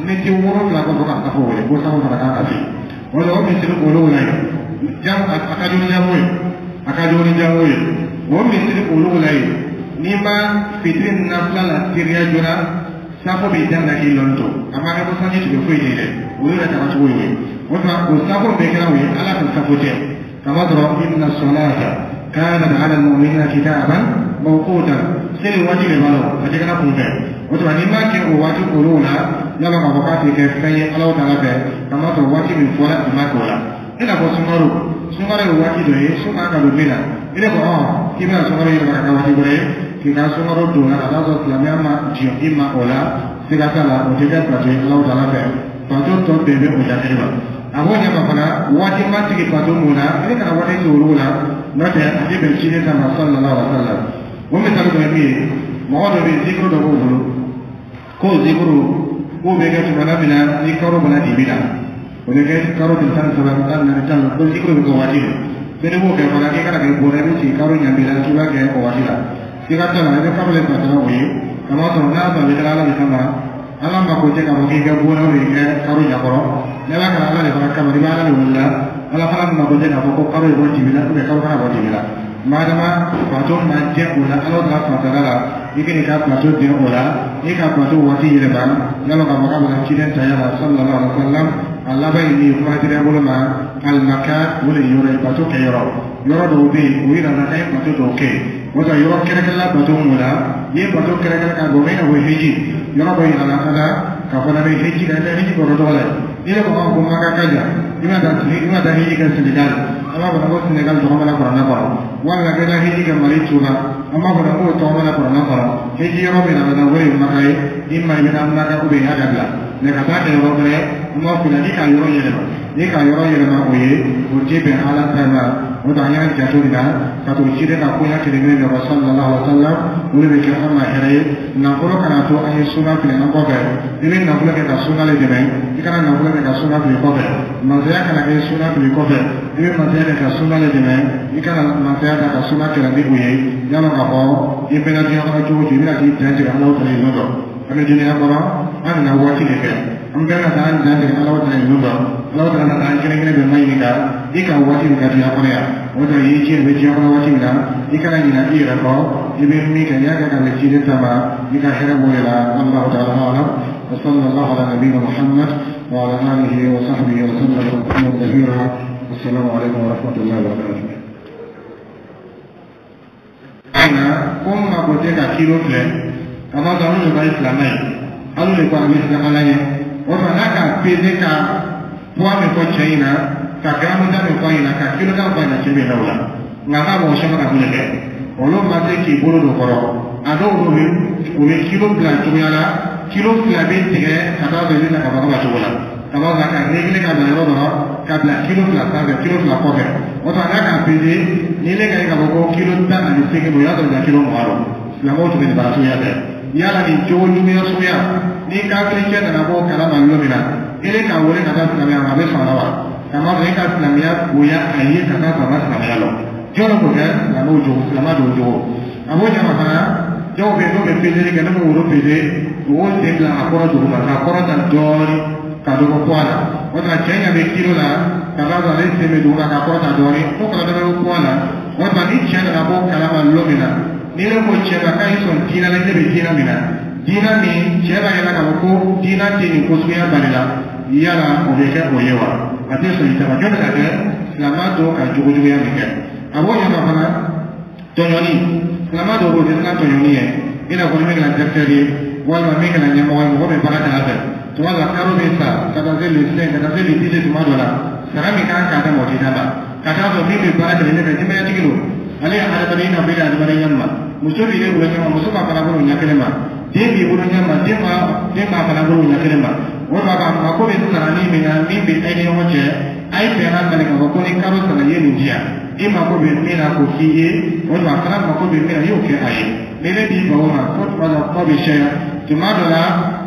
miniti 7 kɔfɛ ka safo wele ko safo fana kan ka se. O la o misiri olu la yen, jam a ka jugu ni jago ye, a ka jugu ni jago ye. O misiri olu la yen, n'i ma fitiri nafila la teriya joona, safo bɛ daminɛ k'i lɔn to a ma kɛ ko sanji tigɛ foyi tɛ dɛ, o yɛrɛ tagacogo ye o ye. O tuma o safo bɛɛ kɛra o ye Ala ka safo tɛ, kamasɔrɔ inna salata kanat ala almu'minina kitaban mawqutan, seli waati de b'a la, a tɛ kɛra kun fɛ. O tuma n'i m'a kɛ o waati olu la, yala k'a fɔ k'a tɛ kɛ fɛn ye Ala ta fɛ, kamasɔrɔ waati min fɔra i ma kɛ o la. I n'a fɔ sunkalo, sunkalo ye waati dɔ ye, sun kan ka don min na, i ne ko k'i bɛna sunkalo yɛlɛma ka kɛ waati wɛrɛ ye, k'i ka sunkalo don la, ka taa sɔrɔ silamɛya ma jɔ i ma o la, siga t'a la, o tɛ kɛ bato ye Ala ta fɛ. Bato tɔ bɛɛ bɛ o jate ma. A b'o ɲɛma fana, waati ma sigi bato mun na, i kana waati sigi olu la, n'o tɛ a tɛ bɛn ciden ta ma sallallahu alaihi wa sallam. O misali dɔ ye min ye, mɔgɔ dɔ bɛ yen, zikuru dɔ b'o bolo, k'o zikuru k'o bɛ kɛ tuma min na ni karo bɔra dibi la, o bɛ kɛ karo tile 13, 14, 10, ko zikuru bɛ kɛ waati min, bɛɛ b'o kɛ fana, k'i kana kɛ bɔrɛ, i bɛ sigi karo ɲanbi la k'i b'a kɛ o waati la, siga t'a la, i bɛ karo de batara o ye, kamasɔrɔ n'a sɔrɔ a bɛ kɛ Ala de kama, Ala mako tɛ k'a fɔ k'i kɛ bɔrɛ o kɛ karo ɲɛkɔrɔ. N'i b'a kɛ Ala de fana kama, i bɛ Ala de wele la, Ala fana mako tɛ k'a fɔ ko karo ye bɔ dibi la karo kana bɔ dibi la. Madama bato ma jɛ o la, Ala ta fatara la, i k'i ka bato den o la, i ka bato waati yɛlɛma, yala k'a fɔ k'a bɛna ciden taya la sallallahu alaihi wa sallam. A laban ye min ye, kuma dira bolo ma alimaka, o de ye yɔrɔ ye, bato kɛ yɔrɔ. Yɔrɔ dɔw bɛ yen, o yira la k'a ye bato dɔw kɛ, o tɛ yɔrɔ kɛrɛnkɛrɛnla bato mun la, n'i ye bato kɛrɛnkɛrɛn ka bɔ i n'a fɔ hiji, yɔrɔ dɔ yira la fana k'a fɔ n'a bɛ hiji la, i bɛ hiji bɔrɔ tɔgɔ la, n'i yɛrɛ ko ko Maka ka jan, i bɛna taa i bɛna taa hiji kɛ Senegal, an b'a fɔ ko Senegal tɔgɔ mana kuranɛ kɔnɔ, walima k'i taa hiji kɛ Mali Tuba, an b'a fɔ k'o tɔgɔ mana kuranɛ kɔnɔ. Hiji yɔrɔ min na o de ye Maka ye, n'i ma i bɛ taa Maka i y'a dabila, mɛ ka taa kɛ yɔrɔ wɛrɛ, an b'a f'i ɲɛna n'i ka yɔrɔ yɛlɛma, n'i ka yɔrɔ yɛlɛma o ye, o tɛ bɛn Ala ta ma. O tɛ an y'an janto nin na ka to ciden ka koɲa kelen kelen bɛɛ kɔ sallallahu alaihi wa sallam, o de bɛ kɛ an ma hɛrɛ ye. Nafolo kana to an ye suna fili an kɔfɛ, i bɛ nafolo kɛ ka suna le dɛmɛ, i kana nafolo kɛ ka suna fili kɔfɛ. Masaya kana kɛ suna fili kɔfɛ, i bɛ masaya kɛ ka suna le dɛmɛ, i kana masaya ta ka suna kɛlɛ ni o ye. Yala k'a fɔ i bɛna diɲɛ kɔnɔ cogo o cogo, i bɛna k'i dan tigɛ Ala ta ye don dɔ. An bɛ dunuya kɔnɔ, an nana waati de kɛ, an bɛɛ ka taa an dan tigɛ Ala ta ye don dɔ. Ala ta na an kelen kelen bɛɛ ma ɲininka i ka waati min ka diɲɛ kɔnɔ yan, o de y'i ci bɛ diɲɛ kɔnɔ waati min na, i kana ɲinɛ i yɛrɛ kɔ, i bɛ min kɛ, n'i y'a kɛ ka bɛn ciden ta ma, i ka hɛrɛ b'o de la. Wallahu ta'ala a'lam, wa sallallahu ala nabiyyina Muhammad wa ala alihi wa sahbihi wa sallam tasliman kathira. Assalamu alaikum wa rahmatullahi wa barakatuh. Nka ko n mako tɛ ka kilo filɛ, kamasɔrɔ olu de ka ye silamɛ ye, olu de ko a bɛ siran Ala ɲɛ. O tuma n'a ka peze ka poids min fɔ cɛ in na, ka garamu da min fɔ a ɲɛna, ka kilo da fɔ a ɲɛna, cɛ bɛ da o la. Nka n'a mɔgɔ caman ka mun de kɛ, olu ma se k'i bolo don kɔrɔ. A dɔw bɛ u bɛ kilo bila cogoya la, kilo 2 bɛ tigɛ ka taa sɔrɔ i bɛ na ka bɔ ka cogo la, ka bɔ ka régler ka bila yɔrɔ dɔ la, ka bila kilo 2 sanfɛ, kilo 2 kɔfɛ. O tuma n'a ka peze ni ne ka ye k'a fɔ ko kilo 18 don, o y'a sɔrɔ kilo 20 don. Silamɛw tun bɛ nin baara suguya kɛ. Yala nin cogo juguya suguya, ni kafiri cɛ nana bɔ kalama don min na, e k'a wele ka taa silamɛya ma, a bɛ sɔn a la wa? Kamasɔrɔ e ka silamɛya bonya a ye ka taa sɔrɔ a ma silamɛya lɔ. Jɔn k'o kɛ silamɛw jogo, silamɛ dɔw jogo. A b'o ɲɛ ma fana, dɔw bɛ yen n'u bɛ peseli kɛ, n'u bɛ woro pese, u b'o sen bila a kɔrɔ duguma k'a kɔrɔ ta dɔɔnin ka dɔ bɔ poids la. O tuma cɛ ɲɛ bɛ kilo la ka taa sɔrɔ ale sen bɛ duguma k'a kɔrɔ ta dɔɔnin, fo kana dɔ bɛ bɔ poids la. O tuma ni cɛ nana bɔ kalama lon min na, ni ne ko cɛ ma k'a y'i sɔn diinɛ la, ne bɛ diinɛ min na, diinɛ min cɛ b'a yira k'a fɔ ko diinɛ tɛ nin ko suguya bali la, yala o bɛ kɛ o ye wa? A tɛ sɔn i ta ma. Jɔn bɛ ka kɛ silamɛ dɔw ka jogojuguya min kɛ, a b'o ɲɛfɔ fana. Tɔɲɔni, silamɛ dɔw b'o tɛ siran tɔɲɔni ye, i n'a fɔ ni min kɛra directeur ye walima min kɛra ɲɛmɔgɔ ye, mɔgɔ bɛ baara kɛ a fɛ. Tuma dɔ la karo bɛ sa ka taa se le 5, ka taa se le 10. Tuma dɔ la sara min kan k'a d'a ma, o tɛ d'a ma, ka taa sɔrɔ min bɛ baara kɛ ne fɛ, denbayatigi don, ale ye hadamaden, i n'a fɔ e ye hadamaden ɲɛ ma. Muso b'i bolo ɲɛ ma, muso b'a fana bolo ɲɛ kelen ma. Den b'i bolo ɲɛ ma, den b'a fana bolo ɲɛ kelen ma. O tuma k'a mako bɛ sarani min na, min bɛ e ni ɲɔgɔn cɛ, a ye bɛnna minɛ k'a fɔ ko ni karo sara i ye nin di yan, i mako bɛ min na k'o k'i ye, o tuma a fana mako bɛ min na, i y'o kɛ a ye. Ni ne b'i ban o ma ko tuma dɔ kuma bɛ caya, tuma dɔ la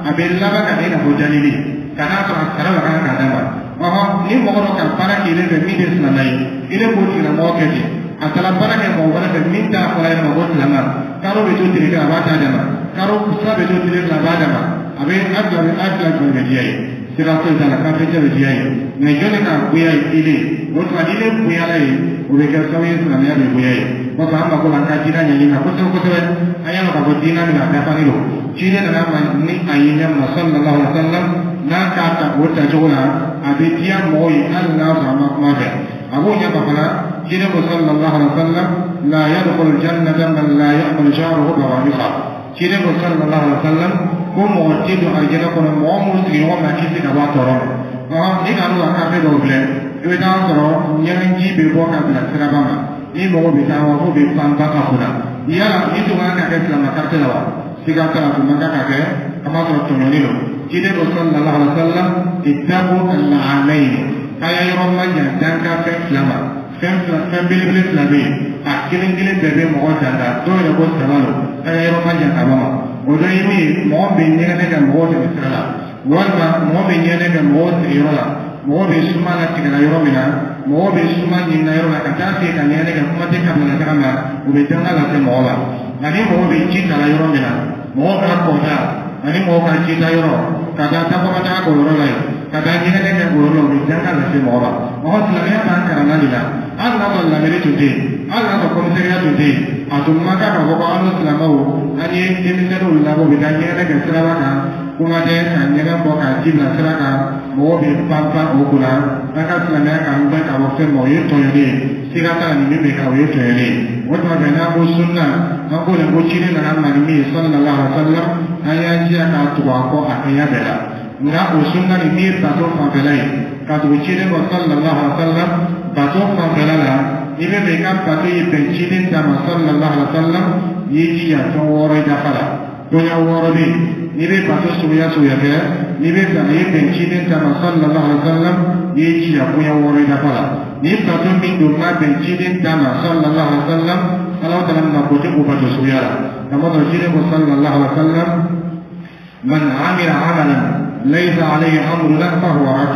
a bɛ laban ka na i n'a fɔ jalili ka n'a sɔrɔ a sara la kan k'a d'a ma. Ɔhɔn, ni mɔgɔ dɔ ka baara k'i fɛ min tɛ silamɛ ye, i ne k'o tigilamɔgɔ kɛ ten, a taara baara kɛ mɔgɔ wɛrɛ fɛ min t'a fɔra yɛrɛ ma ko silamɛ, karo bɛ to tile kelen a b'a ta d'a ma, karo sira bɛ to tile 2 a b'a d'a ma, a bɛ a fila a fila jumɛn bɛ diya ye? Sira foyi t'a la, kafiricɛ bɛ diya ye. Mɛ jɔnni k'a goya ye? Ile o tuma ni ile goyala ye, o bɛ kɛ sababu ye silamɛya bɛ goya ye. Kɔfɛ an mako b'an ka diinɛ ɲɛɲini na kosɛbɛ kosɛbɛ. An y'a dɔn k'a fɔ diinɛ min a dafalen don, ciden nana ma ni a ye ɲɛ min na, sallallahu alaihi wa sallam, n'a k'a ta o tacogo la, a bɛ diya mɔgɔw ye hali n'a sɔrɔ a ma kuma fɛ. A b'o ɲɛfɔ fana, ciden ko sallallahu alaihi wa sallam: la yadkhulu jannata man la ya'malu sha'ruhu bawarisa. Ciden ko sallallahu alaihi wa sallam ko mɔgɔ tɛ don alijɛnɛ kɔnɔ mɔgɔ minnu sigiɲɔgɔn ma kisi ka bɔ a tɔɔrɔ ma. Ɔhɔn, ni ka n'u ka kafe dɔw filɛ, i bɛ taa sɔrɔ ɲɛgɛnji bɛ bɔ ka bila siraba ma, ni mɔgɔ bɛ taa wa k'o bɛ pan ba ka kunna. Yala ni tun kan ka kɛ silamɛ karite la wa? Siga t'a la, tun man kan ka kɛ, a b'a sɔrɔ tɔɲɔni don. Ciden ko sallallahu alaihi wa sallam: ittaqu al-la'anayn, k'a y'a yɔrɔ ma jan dankan fɛn fila ma. Fɛn fila, fɛn belebele fila bɛ yen, a kelen kelen bɛɛ bɛ mɔgɔ danga, dɔw yɛrɛ ko saba don, k'a y'a yɔrɔ ma jan ka bɔ ma. O dɔ ye min ye, mɔgɔ bɛ ɲɛgɛnɛ kɛ mɔgɔw tɛmɛ sira la, walima mɔgɔ bɛ ɲɛgɛnɛ kɛ mɔgɔw sigiyɔrɔ la, mɔgɔ bɛ suma la tigɛla yɔrɔ min na, mɔgɔ bɛ suma ɲinina yɔrɔ la ka taa se ka ɲɛgɛnɛ kɛ, kuma tɛ kabila taga ma, o bɛ danga lase mɔgɔ la. Ani mɔgɔ bɛ ji ta la yɔrɔ min na, mɔgɔ ka kɔta ani mɔgɔ ka ji ta yɔrɔ, ka taa takɔma taga k'o yɔrɔ la yen, ka taa ɲɛgɛnɛ kɛ o yɔrɔ la, o bɛ danga lase mɔgɔ ma. Mɔgɔ silamɛya b'an kalanna de la, hali n'a sɔrɔ lamɛnni tun tɛ yen, hali n'a sɔrɔ kɔmisɛriya tun tɛ yen, a tun man kan k'a fɔ ko an n'o silamɛw an ye denmisɛnninw labɔ u bɛ taa ɲɛgɛnɛ kɛ siraba kan, kuma tɛ ka ɲɛgɛn bɔ k'a ji bila sira kan, mɔgɔw bɛ pan pan o kunna. An ka silamɛya k'an gbɛn ka bɔ fɛn ma, o ye tɔɲɔni ye, siga t'a la, nin min bɛ kɛ o ye tɔɲɔni ye. O tuma fɛ n'an ko sunna, an ko de ko ciden nana ma ni min ye sallallahu alaihi wa sallam, an y'an jija k'a tugu a kɔ a kɛɲɛ bɛɛ la. Nka o sunna nin min ye bato fanfɛla ye, ka tugu ciden kɔ sallallahu alaihi wa sallam bato fanfɛla la, i bɛ fɛ i ka bato ye bɛn ciden ta ma sallallahu alaihi wa sallam, i y'i jija fɛn wɔɔrɔ i dafa la. Bonya wɔɔrɔ bɛ yen, n'i bɛ bato suguya suguya kɛ, n'i bɛ fɛ a ye bɛn ciden ta ma sallallahu alaihi wa sallam, i y'i jija bonya wɔɔrɔ i dafa la. Ni bato min don ma bɛn ciden ta ma sallallahu alaihi wa sallam, Ala taala mako tɛ o bato suguya la. Kamasɔrɔ ciden ko sallallahu alaihi wa sallam: man amila amalan laysa alayhi amruna fahuwa rad.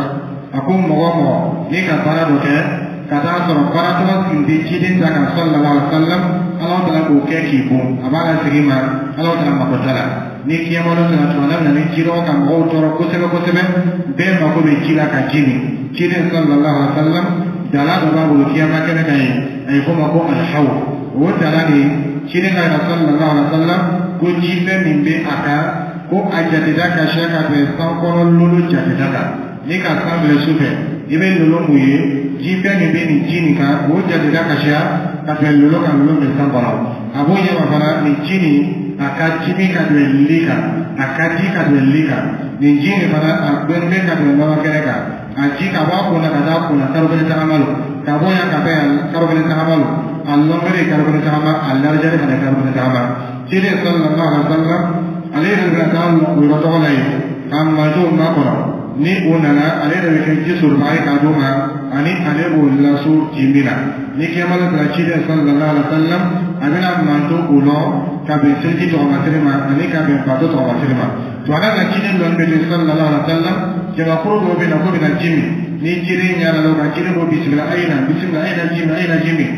A ko mɔgɔ mɔgɔ n'i ka baara dɔ kɛ ka taa sɔrɔ baara tɔgɔ tun tɛ ciden ta kan sallallahu alaihi wa sallam, Ala taala k'o kɛ k'i bon, a b'a lasegin ma, Ala taala mako t'a la. Ni kiyama dɔ sera tuma min na, ni jidaw ka mɔgɔw tɔɔrɔ kosɛbɛ kosɛbɛ, bɛɛ mako bɛ ji la ka ji min, ciden sallallahu alaihi wa sallam dala dɔ b'a bolo kiyama kɛnɛ kan yen, a ye fɔ o ma ko alhaw. O dala nin, ciden ka yira sallallahu alaihi wa sallam ko jifɛn min bɛ a kan, ko a jateda ka siya ka bɛn sankɔrɔ lolo jateda kan. Ni ka san bila su fɛ, i bɛ lolo mun ye, jifɛn min bɛ nin ji nin kan, o jateda ka siya ka bɛn lolo kan, lolo bɛ san kɔnɔ. A b'o ɲɛma fana, nin ji nin a ka ji min ka bɛn li kan, a ka ji ka bɛn li kan. Nin ji nin fana a gbɛnnen bɛ ka bɛn nɔnɔ kɛnɛ kan. A ji ka bɔ a kun na ka taa kun na karo kelen tagama don, ka bɔ yan ka taa yan karo kelen tagama don, a longueur ye karo kelen tagama, a largeur fana ye karo kelen tagama. Ciden sallallahu alaihi wa sallam ale yɛrɛ bɛna taa o yɔrɔ tɔgɔ la yen ka mantonw makɔnɔ. Ni o nana, ale yɛrɛ bɛ kɛ ji sɔrɔbaga ye k'a d'o ma, ani ale b'o laso ji min na. Ni kiyama la sera, ciden sallallahu alaihi wa sallam a bɛna manton o lɔ ka bɛn seliji tɔgɔmasiri ma ani ka bɛn bato tɔgɔmasiri ma. Tuma na ciden dɔɔni bɛ to sallallahu alaihi wa sallam, jamakuru dɔw bɛ na k'o bɛna ji min. Ni ciden ɲɛna la ka ciden ko bisimila, a ye na, bisimila, a ye na ji min, a ye na ji min.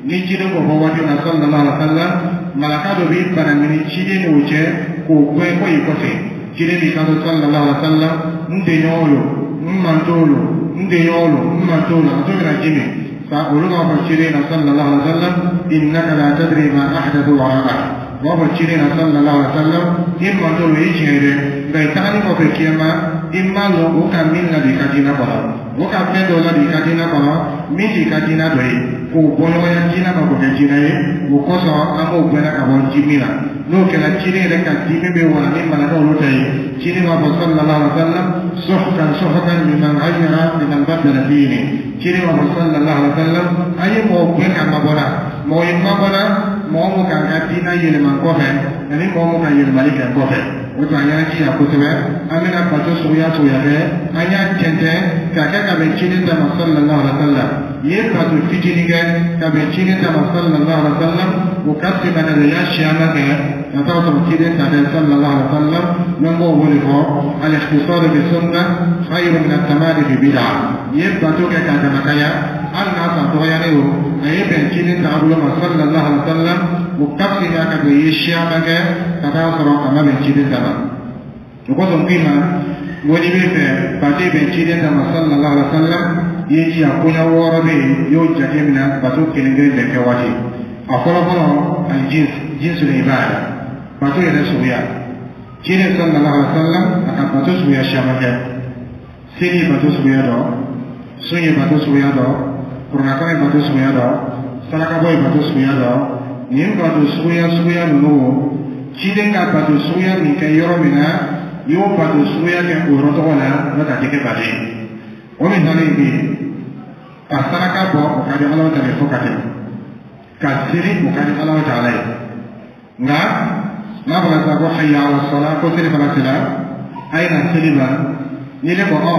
Ni ciden ko fɔ waati min na sallallahu alaihi wa sallam, malaka dɔ b'i banamini ciden n'o cɛ k'o gɛn ko i kɔfɛ. Ciden b'i kanto sallallahu alaihi wa sallam, n denɲɔgɔnw lo, n mantow lo, n denɲɔgɔnw lo, n mantow lo, a t'o bɛna ji min. Fa olu b'a fɔ ciden na sallallahu alaihi wa sallam, innaka la tadri ma ahdathu wara'ak. U b'a fɔ ciden na sallallahu alaihi wa sallam, i mantow lo, i tiɲɛ ye dɛ, nka i tagalen kɔfɛ kiyama, i m'a lɔn o ka min ladon i ka diinɛ kɔnɔ, o ka fɛn dɔ ladon i ka diinɛ kɔnɔ min t'i ka diinɛ dɔ ye, k'o bɔ ɲɔgɔnya diinɛ ma k'o kɛ diinɛ ye. O kosɔn an b'o gbɛnna ka bɔ ji min na. N'o kɛra, ciden yɛrɛ ka dimi bɛ wala ni malaka olu ta ye. Ciden b'a fɔ sallallahu alaihi wa sallam, suhkan suhkan liman ghayyara liman baddala dini. Ciden b'a fɔ sallallahu alaihi wa sallam, an ye mɔgɔ gbɛn ka mabɔ la, mɔgɔ ye mabɔ la, mɔgɔ mun k'an ka diinɛ yɛlɛma kɔfɛ ani mɔgɔ mun ka yɛlɛmali kɛ kɔfɛ. O tuma an y'an jija kosɛbɛ, an bɛna bato suguya suguya kɛ, an y'a tɛntɛn k'a kɛ ka bɛn ciden ta ma sallallahu alaihi wa sallam. I ye bato fitinin kɛ ka bɛn ciden ta ma sallallahu alaihi wa sallam, o ka fisa ka bɛn i y'a siyaman kɛ ka taa sɔrɔ ciden ta tɛ sallallahu alaihi wa sallam. N'an b'o wele fɔ al-ikhtisar bi sunnah khayru min at-tamadi fi bid'ah. I ye bato kɛ k'a damakaya, hali n'a san dɔgɔyalen o, a ye bɛn ciden taabolo ma sallallahu alaihi wa sallam, o ka fisa ka bɛn i ye siyaman kɛ ka taa sɔrɔ a ma bɛn ciden ta ma. O kosɔn k'i ma n ko n'i bɛ fɛ bato bɛn ciden ta ma sallallahu alaihi wa sallam, i ye jija koɲɛ 6 bɛ yen, i y'o jate minɛ bato kelen kelen bɛɛ kɛ waati. A fɔlɔ fɔlɔ, al-jins, jinsul ibada, bato yɛrɛ suguya. Ciden sallallahu alaihi wa sallam a ka bato suguya caman kɛ. Seli ye bato suguya dɔ, sun ye bato suguya dɔ, kuranɛkalan ye bato suguya dɔ, sarakabɔ ye bato suguya dɔ. Nin bato suguya suguya ninnu, ciden ka bato suguya min kɛ yɔrɔ min na, i y'o bato suguya kɛ o yɔrɔ tɔgɔ la, n'o tɛ a tɛ kɛ bato ye. O misali ye min ye, ka saraka bɔ, o ka di Ala ta ye fo ka tɛmɛ, ka seli, o ka di Ala ta ye. Nka n'a fɔra sisan ko hayya ala sala, ko seli fana sera, a ye na seli ma, ni ne ko ɔ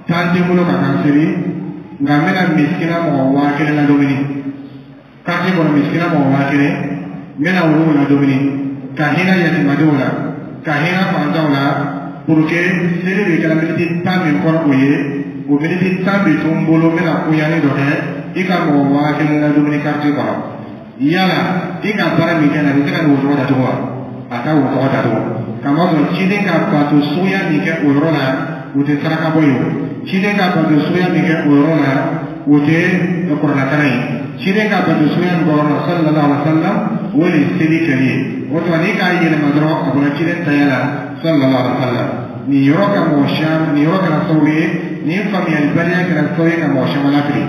tan tɛ n bolo ka taa seli, nka n bɛna misikina mɔgɔ 1000 ladumuni quartier kɔnɔ, misikina mɔgɔ 1000, n bɛna olu ladumuni ka hinɛ yatimadenw la, ka hinɛ fantanw la, pour que seli bɛ kɛra miniti 10 min kɔnɔ, o ye o miniti 10 bɛ to n bolo, n bɛna koɲani dɔ kɛ. I ka mɔgɔ 1000 ladumuni quartier kɔnɔ, yala i ka baara min kɛ nin, a bɛ se ka nin wo tɔgɔ datugu wa? A ka wo tɔgɔ datugu. Kamasɔrɔ ciden ka bato suguya min kɛ o yɔrɔ la, o tɛ saraka bɔ ye o. Ciden ka bato suguya min kɛ o yɔrɔ la, o tɛ kuranɛkalan ye. Ciden ka bato suguya min kɛ o yɔrɔ la sallallahu alaihi wa sallam, o de ye seli kɛli ye. O tuma n'i k'a yɛlɛma dɔrɔn, a bɔra ciden taya la sallallahu alaihi wa sallam. Nin yɔrɔ ka mɔgɔ caman, nin yɔrɔ kɛra sababu ye, nin faamuyalibaliya kɛra sababu ye ka mɔgɔ caman lafili.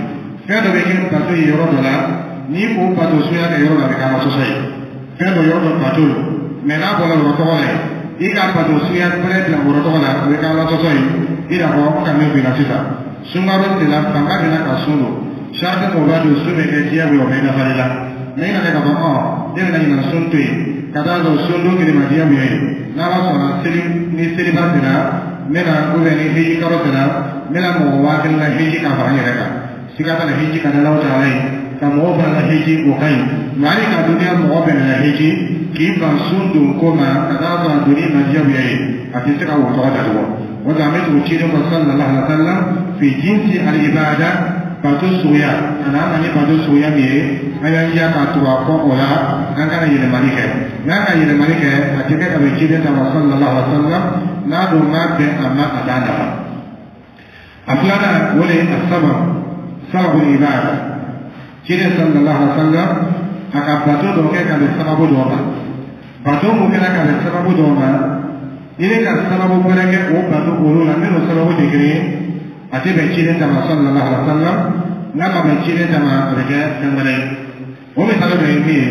Fɛn dɔ bɛ kɛ bato ye yɔrɔ dɔ la, n'i k'o bato suguya kɛ yɔrɔ dɔ, a bɛ kɛ ala sɔsɔ ye. Fɛn dɔ yɔrɔ dɔ bato lo, mɛ n'a bɔra yɔrɔ tɔgɔ la yen, i ka bato suguya wɛrɛ bila yɔrɔ tɔgɔ la, o bɛ kɛ ala sɔsɔ ye. I n'a fɔ ka min f'i la sisan, sunkalo sera, fanga bɛ na ka sun don, sarati mɔgɔ b'a don sun bɛ kɛ diyagoya, o bɛ nafali la. Mɛ i nana k'a fɔ ɔ ne bɛna ɲinan sun to yen ka taa sɔrɔ sun don kelen ma diyagoya ye, n'ala sɔnna seli ni seliba sera, n bɛna, ou bien ni hiji kalo sera, n bɛna mɔgɔ 1000 la hiji ka fara n yɛrɛ kan. Siga t'a la, hiji ka di Alahu taala ye, ka mɔgɔw fana la hiji, o ka ɲi. Mɛ hali ka duniya mɔgɔ bɛɛ la hiji k'i ban sun don ko ma ka taa sɔrɔ a donni ma diyagoya ye, a tɛ se ka wo tɔgɔ datugu. O la an bɛ tugu ciden kɔ sallallahu alaihi wa sallam fi jinsi al-ibada, bato suguya, a n'an na ni bato suguya min ye, an y'an jija k'a tugu a kɔ o la, an kana yɛlɛmali kɛ. N'an ka yɛlɛmali kɛ, a tɛ kɛ ka bɛn ciden ta ma sallallahu alaihi wa sallam. N'a dun ma bɛn a ma, a t'a nafa. A filanan, o de ye a sababu, sababu ibada. Ciden sallallahu alaihi wa sallam a ka bato dɔ kɛ ka bɛn sababu dɔ ma. Bato mun kɛra ka bɛn sababu dɔ ma, ni ne ka sababu wɛrɛ kɛ o bato olu la, min n'o sababu tɛ kelen ye, a tɛ bɛn ciden ta ma sallallahu alaihi wa sallam. N'a ma bɛn ciden ta ma, a bɛ kɛ fɛn wɛrɛ ye. O misali dɔ ye min ye,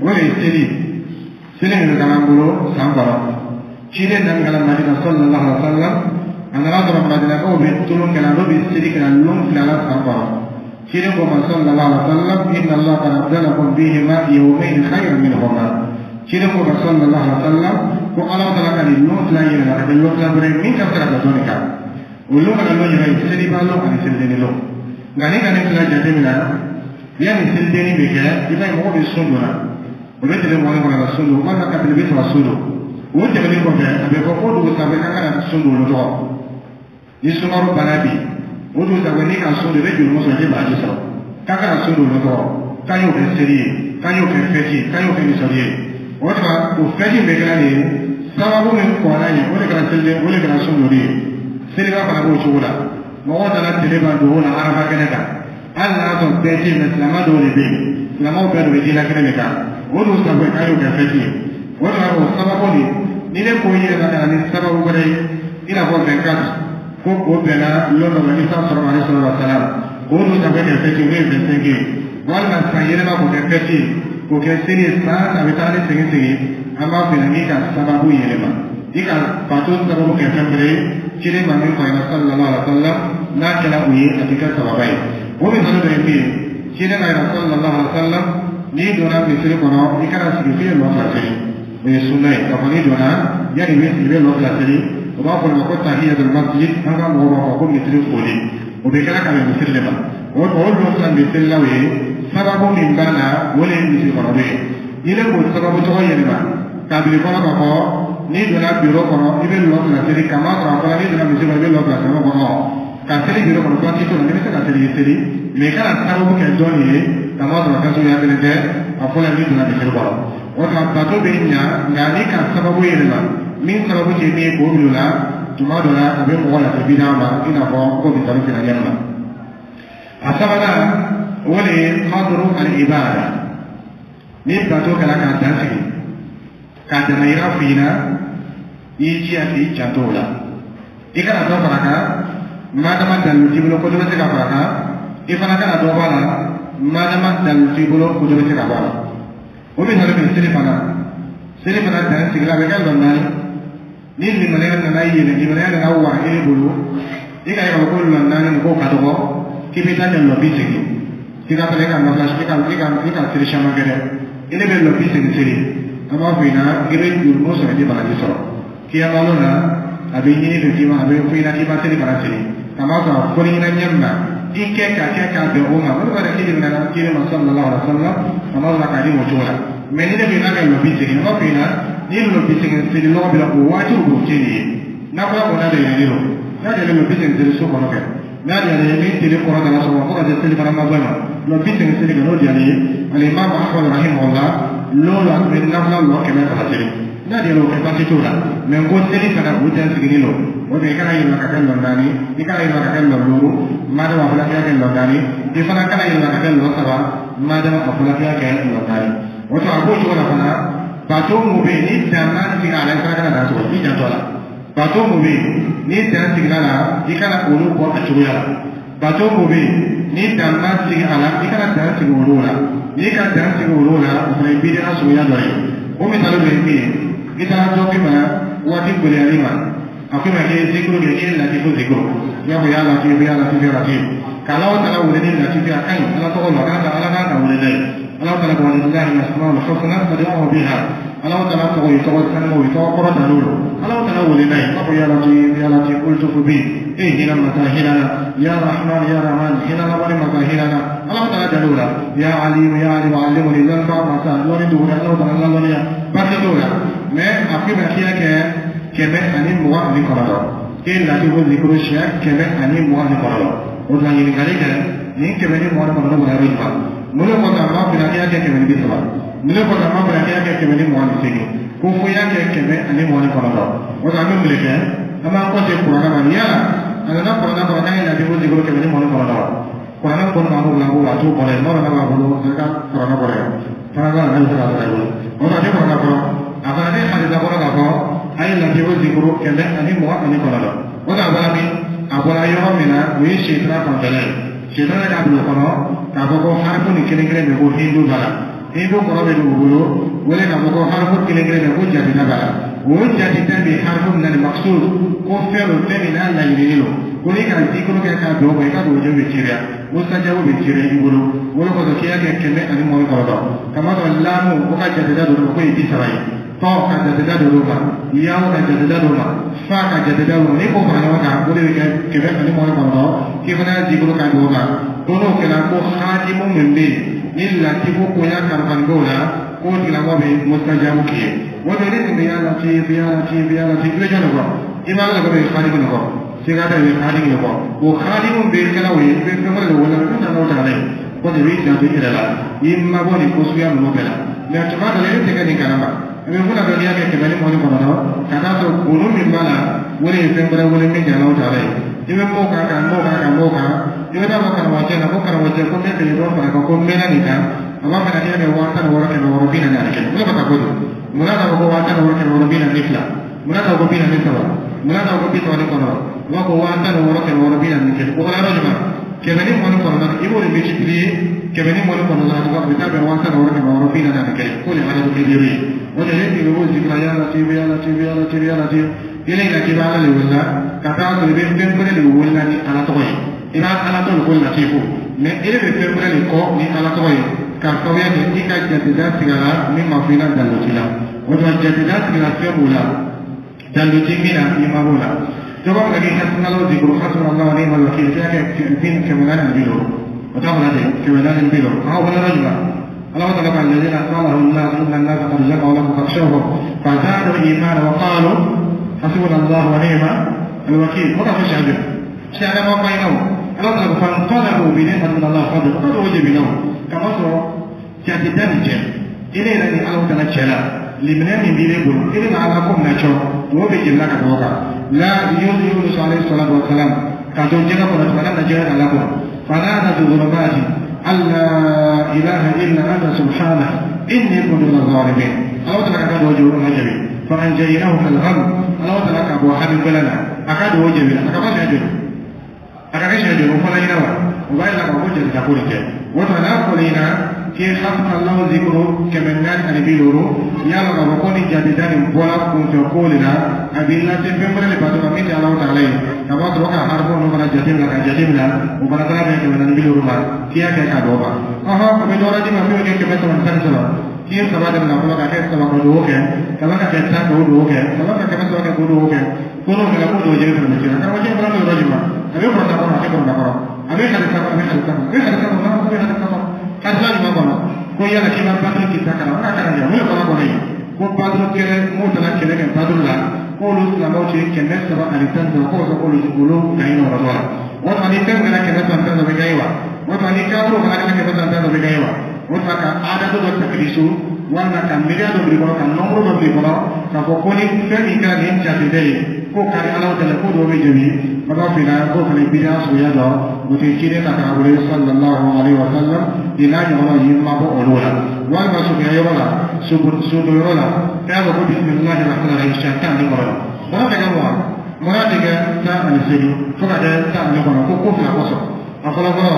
o de ye seli. Seli min bɛ k'an bolo san kɔnɔ, ciden nana ka na Madina sallallahu alaihi wa sallam, a nana sɔrɔ Madinakaw bɛ tulon kɛla, n'o bɛ seli kɛla lon 2 la san kɔnɔ. Ciden ko ma sallallahu alaihi wa sallam, inna Allah qad abdalakum bihima yawmayn khayran minhuma. Ciden ko ma sallallahu alaihi wa sallam ko Ala taala ka nin lon 2 yɛlɛma ka kɛ lon 2 wɛrɛ ye min ka fisa ka dɔ nin kan. O lon kana lon yɛrɛ ye seliba lon ani selidenni lon. Nka ni ka nin fila jateminɛ, yanni selidenni bɛ kɛ, i b'a ye mɔgɔ bɛ sun don na, o bɛ tile 20 kɔnɔ ka sun don, walima ka tile 30 sun don. O tɛmɛnen kɔfɛ, a bɛ fɔ ko dugu sanfɛ k'an kana sun don olu tɔgɔ. Ni sunkalo banna bi, O dun sago n'i ka sun don, i bɛ jurumu sɔrɔ, i tɛ baraji sɔrɔ. K'a kana sun don o tɔgɔ k'an y'o kɛ seli ye, k'an y'o kɛ fɛti ye, k'an y'o kɛ nisɔndi ye. O tuma o fɛti min bɛ kɛra nin ye, sababu min kɔnna ɲɛ, o de kɛra seli, o de kɛra sun donni ye. Seliba fana b'o cogo la. Mɔgɔw nana tele ban dugu la Arafa kɛnɛ kan, hali n'a sɔrɔ bɛɛ tɛ yen, mɛ silamɛ dɔw de bɛ yen, silamɛw bɛɛ de bɛ ji la kɛnɛ de kan. O dun sago k'a y'o kɛ fɛti ye. O tuma o sababu nin, ni ne ko i yɛrɛ ka na ni sababu wɛrɛ ye, i n'a fɔ 24 ko o bɛnna lon dɔ ma Isa sɔrɔ alayhi salatu wa salam, o dun sago kɛ fɛti ye, o ye 25 ye. Walima san yɛlɛma k'o kɛ fɛti ye, k'o kɛ seli ye, san a bɛ taa ni segin segin. An b'a fɛ k'i ka sababu yɛlɛma, i ka bato sababu kɛ fɛn wɛrɛ ye ciden ma min fɔ a ɲɛna sallallahu alaihi wa sallam, n'a kɛra o ye, a tɛ kɛ sababa ye. O misali dɔ ye min ye, ciden ka yɛrɛ sallallahu alaihi wa sallam, n'i donna misiri kɔnɔ, i kana sigi f'i ye lɔ fila seli. O ye sunna ye k'a fɔ n'i donna, yanni i bɛ sigi, i bɛ lɔ fila seli. O b'a fɔ o ma ko tahiyatul masjid, an ka mɔgɔw b'a fɔ ko misiri foli. O bɛ kɛra ka bɛn misiri de ma. O lɔ fila min selilaw ye, sababu min b'a la, o de ye misiri kɔnɔ ye. N'i ne k'o sababu tɔgɔ yɛlɛma k'a bila i kɔnɔ k'a fɔ n'i donna biro kɔnɔ, i bɛ lɔ fila seli, k'a masɔrɔ a fɔra n'i donna misiri kɔnɔ, i bɛ lɔ fila seli, o kɔnɔ ka seli biro kɔnɔ, baasi t'o la, n'i bɛ se ka seli, i seli, mɛ i kana sababu kɛ dɔ nin ye, k'a masɔrɔ fɛn suguya kelen tɛ. A fɔlɔ, n'i donna misiri kɔnɔ, o tuma bato bɛ ɲa, nka n'i ka sababu yɛlɛma min sababu tɛ min ye k'o bila o la, tuma dɔ la a bɛ mɔgɔ lase bida ma, i n'a fɔ ko misali fila ɲɛ ma. A sabanan, o de ye qadru al-ibada. Ni bato kɛra k'a dan sigi, k'a damayira f'i ɲɛna, i y'i jija k'i janto o la, i kana dɔ fara kan madama dalilu t'i bolo ko dɔ bɛ se ka fara kan. I fana kana dɔ bɔ a la madama dalilu t'i bolo ko dɔ bɛ se ka bɔ a la. O misali bɛ seli fana. Seli fana dan sigila, a bɛ kɛ lɔ naani. Ni limaniya nana yɛlɛ, limaniya nana wa e bolo, i ka ye k'a fɔ ko lɔ naani nin ko ka dɔgɔ, k'i bɛ taa kɛ lɔ 80, k'i ka fana i ka nafila, i ka seli caman kɛ dɛ, i ne bɛ lɔ 80 seli. An b'a fɔ i ɲɛna i bɛ jurumu sɔrɔ, i tɛ baraji sɔrɔ. Kiyama lon na, a bɛ ɲini fɛ k'i ma, a bɛ fɔ i ɲɛna k'i ma seli fana seli, k'a ma sɔrɔ a fɔli ɲɛna ɲɛ min na, i kɛ ka kɛ k'a bɛn o ma. O de b'a k'i nana kiri ma sallallahu alaihi wa sallam, a ma sɔrɔ k'a di o cogo la. Mɛ ni ne bɛ n'a kɛ lɔ 80, an b'a fɔ i ɲɛna ni lɔ 80 seli lɔgɔ bɛ la, o waati o tɛ nin ye. N'a fɔra ko n'a bɛ yɛlɛlen don, n'a yɛlɛlen don, 80 seli so kɔnɔ kɛ, n'a diyara ye, ni tele kɔrɔ dala sɔgɔma fo ka se seli fana ma bɔ ma, lɔ 80 seli kɛ, n'o diyara ye. Alimami Ahmad rahimahullah, lon la a tun bɛ nafila lɔ 100 seli. N'a diyara o kɛ, baasi t'o la. Mɛ n ko seli fana, o dan sigilen don. O de i kana yɛlɛma ka kɛ lɔ naani, i kana yɛlɛma ka kɛ lɔ duuru madama a fɔra k'i ka kɛ lɔ naani. I fana kana yɛlɛma ka kɛ lɔ saba madama a fɔra k'i ka kɛ lɔ naani. O tuma a b'o cogo la fana. Bato mun bɛ yen ni dan ma sigi a la, i fana kana dan sɔrɔ, i janto a la. Bato mun bɛ yen ni dan sigira la, i kana olu bɔ a cogoya la. Bato mun bɛ yen ni dan ma sigi a la, i kana dan sigi olu la. N'i ka dan sigi olu la, o fana ye bid'a suguya dɔ ye. O misali dɔ ye min ye, i taara dɔ k'i ma waati gɛlɛyali ma, a ko i ma k'i ye zikuru kɛ, k'i ye latifu zikuru, i b'a fɔ ya latifu, ya latifu, ya latifu, k'Ala tala wele ni latifu. A ka ɲi, Ala tɔgɔ la, Ala kan ka wele n'a ye. Ala tala ko walillahi al-asmaul husna fad'uhu biha. Ala tala tɔgɔ ye tɔgɔ sanumaw ye, tɔgɔ kɔrɔ ta n'o don. Ala tala wele n'a ye, i b'a fɔ ya latif, ya latif, ultufu bi, e hinɛ masa, hinɛ na, ya rahman, ya rahman, hinɛ labɔli masa, hinɛ na. Ala tala jal'o la, ya alim, ya alim, alimuni, lɔnniba masa, lɔnni dugura, Ala tala lalɔnniya, baasi t'o la. Mɛ a ko i ma k'i y'a kɛ 129, k'e latifu zikuru siɲɛ 129. O tuma ɲininkali kɛ, nin 129 bɔra yɔrɔ jumɛn? Mun de kɔsɔn a m'a fɔ k'i y'a kɛ 130? Mun de kɔsɔn a m'a fɔ k'i y'a kɛ 128? Ko fo i y'a kɛ 129. O tuma an bɛ mun de kɛ? An b'an kɔ segin kuranɛ ma. Yala a nana kuranɛ kɔnɔ k'an ye latifu zikuru 129? Kuranɛ kɔnɔ b'an bolo, an b'o a t'o kɔnɔ yen. N'o b'a bolo, a ka kuranɛ kɔrɔ yen fana b'a la, n'a bɛ se k'a sɔrɔ i bolo. O tuma a tɛ kuranɛ kɔnɔ, a fana tɛ hadisa kɔnɔ k'a fɔ a ye latifu zikuru 129. O tuma a bɔra min? A bɔra yɔrɔ min na, o ye setana fanfɛla ye. Setana k'a bila o kɔnɔ k'a fɔ ko harifu nin kelen kelen bɛ ko hindu b'a la, hindu kɔrɔ bɛ don o bolo, o de k'a fɔ ko harifu kelen kelen bɛ ko jateda b'a la. O jateda bɛ harifu min na nin maksud ko fɛn don, fɛn min n'a laɲininen don, ko n'i ka zikuru kɛ k'a don o kan, i ka dugujɛ bɛ ceriya, musajabu bɛ ceriya i bolo. O de kosɔn k'i y'a kɛ 129, kamasɔrɔ laamu o ka jateda don o ma ko ye 30 ye, tɔ ka jateda don o ma, yawo ka jateda don o ma, fa ka jateda don o ma. N'i k'o fara ɲɔgɔn kan, o de bɛ kɛ 129. K'i fana y'a zikuru k'a don o kan, ko n'o kɛra, ko hadimu min bɛ yen ni latifu koɲa kalifani b'o la, k'o tigilamɔgɔ bɛ musajabu k'i ye. O de ne tun bɛ ya latif, ya latif, ya latif, i bɛ jɔn de kɔ? I b'a la ko bɛ hadimu de kɔ. Siga t'a i bɛ hadimu de kɔ. O hadimu bɛ kɛla o ye, i bɛ fɛn wɛrɛ de wele min tɛ Alahu taala ye. Ko de b'i janto i yɛrɛ la, i mabɔ nin ko suguya ninnu bɛɛ la. Mɛ tuma dɔ la, e tɛ kɛ nin kalama. I bɛ funa dɔ n'i y'a kɛ 129, ka taa sɔrɔ golo min b'a la, o de ye fɛn wɛrɛ wele min tɛ Alahu taala ye. I bɛ m'o kan ka m'o kan ka m'o kan, i bɛ taa fɔ karamɔgɔcɛ la ko karamɔgɔcɛ, ko n bɛ fɛ dɔ fara kan, ko n mɛnna nin kan. A b'a fɛ ka n'i y'a kɛ 16641. O de ka taa ko don. Munna k'a fɔ ko 16642? Munna k'a fɔ ko 43? Munna k'a fɔ ko 39? U b'a fɔ 16641. O kɛra yɔrɔ jumɛn? 129, i b'o de multiplier 129, a bɛ taa bɛn 16641. K'o de adadu kebiru ye. O de ye i b'o zikira ya Latifu, ya Latifu, ya Latifu, ya Latifu. Yɛlɛ in na k'i bɛ Ala de wele la, ka taa sɔrɔ i bɛ fɛn wɛrɛ de wele la ni Ala tɔgɔ ye. I b'a Ala tɔgɔ ko Latifu, mɛ e bɛ fɛn wɛrɛ de kɔ ni Ala tɔgɔ ye, k'a sababuya kɛ i ka jateda sigira min ma fɔ i la dalilu t'i la. O tuma jateda sigira fɛn b'o la, dalilu ti min na, i ma b'o la. Dɔ b'a fɔ k'i hasbunallahu zikru hasbunallahu wa ni'mal wakil, i y'a kɛ 450. O t'a fɔla ten 450. An ka wele yɔrɔ jumɛn? الله تعالى قال الذين قال لهم الناس إن الناس قد جمعوا لكم فاخشوهم فزادوا إيمانا وقالوا حسبنا الله ونعم الوكيل. وقف الشهادة شهادة ما بينهم. الله تعالى فانقلبوا بنعمة من الله فضل وقد وجب لهم كما صار جاتدان جل إلى أن الله تعالى جل لمن من بيقول إلى على قوم نشو وبيجي لك توقع لا يونس عليه الصلاة والسلام كاتو جل قرأت فلم نجد لكم فنادى في الظلمات أن لا إله إلا أنت سبحانه إني كنت من الظالمين. الله تعالى كاد وجهه الجبين فأنجيناه من الغم. الله تعالى كأبو حبيب لنا أكاد وجهه أكاد وجهه أكاد وجهه فلا ينوى وبعد لك وجه تقول كه وتناقلنا كي حسن الله ذكره كمن نان أن بيلورو يا لك وكوني جديدان بولا كنت قولنا أبي الله تفهم لبعض من الله تعالى كما تروك حرب نبرا جديد لك جديد لا وبرا ترى كمن نان بيلورو ما كيا كي كادوبا أها أبي دورا دي ما فيه كي كمن سان سلا كي سبا دم نقول كي سبا كدو كي كما كي سان كدو كي كما كي كمن سبا كدو كي كونو كلا كدو جديد من كذا كما جي برا دورا جوا أبي برا ترى أبي برا ترى أبي خالد سبا أبي خالد سبا أبي خالد سبا أبي خالد سبا kasila jumɛn kɔnɔ ko yala k'i ma baduru kita kalan n ka kalan kɛ mun ye kɔnɔ kɔnɔ ye ko baduru kɛlɛ mun taara kɛlɛ kɛ baduru la k'olu silamɛw ci 313, k'o sɔrɔ k'olu olu gaɲi yɔrɔ dɔ la. O tuma ni fɛn kɛra 313 bɛ gaɲi wa? O tuma ni kafiriw fana kɛra 313 bɛ gaɲi wa? O tuma ka adadu dɔ takirisu walima ka miiriya dɔ bil'i kɔnɔ, ka nɔnburu dɔ bil'i kɔnɔ k'a fɔ ko ni fɛn min kɛra nin jateden ye k'o kari Ala tɛlɛ k'o dɔw bɛ jɛbi baba fina k'o fana bidiya suguya dɔ o tɛ ciden ta k'a wele sallallahu alaihi wa sallam nin n'a ɲɔgɔnnaw y'i mabɔ olu la. Walima suguya yɔrɔ la, sodo yɔrɔ la, k'a fɔ ko bisimilahi rahmani rahim siɲɛ 19. Mɔgɔ tɛ kɛ mugan, mɔgɔ tɛ kɛ 18 fo ka kɛ 19 ko ko fila kosɔn. A fɔlɔ fɔlɔ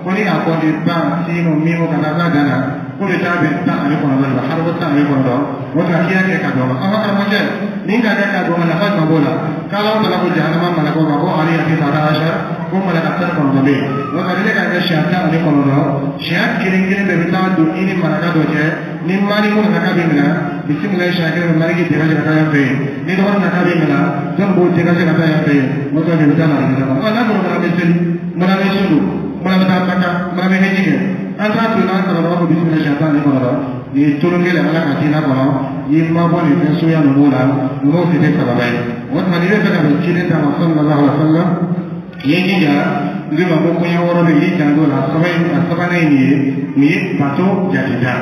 ko ni a kɔni ban sinu mimu ka taa bila dan na ko bɛ taa bɛn 19 la, haribo 19. O tuma k'i y'a kɛ ka dɔn ma an ka karamɔgɔcɛ nin ka kɛ ka dɔn ma nafa jumɛn b'o la? K'Ala tala ko jahanama malakaw ma ko ale y'a kɛ ta ashar ko malaka 19 bɛ yen. O tuma ni ne ka kɛ siɲɛ 19, siɲɛ kelen kelen bɛɛ bɛ taa don i ni malaka dɔ cɛ. Ni maliku nana bɛ minɛ bisimilayi siɲɛ kelen bɛ maliki dégagé ka taa yan fɛ yen, ni dɔgɔnin nana bɛ minɛ jɔn b'o dégagé ka taa yan fɛ yen. O tuma bɛ taa na ɔ n'a sɔrɔ mana bɛ seli, mana bɛ sun don, mana bɛ taa Maka, mana bɛ hiji kɛ, an t'a to n'an sɔrɔ ko bisimila siɲɛ 19. Nin ye tolon kelen Ala ka diinɛ kɔnɔ, i ma bɔ nin fɛn suguya ninnu la, ninnu si tɛ sababa ye. O tuma n'i bɛ fɛ ka bɛn ciden ta ma sallallahu alaihi wa sallam, i ye jija n bɛ ma ko koɲɛ wɔɔrɔ bɛ yen, i janto la. A sabanan ye nin ye, nin ye bato jateda.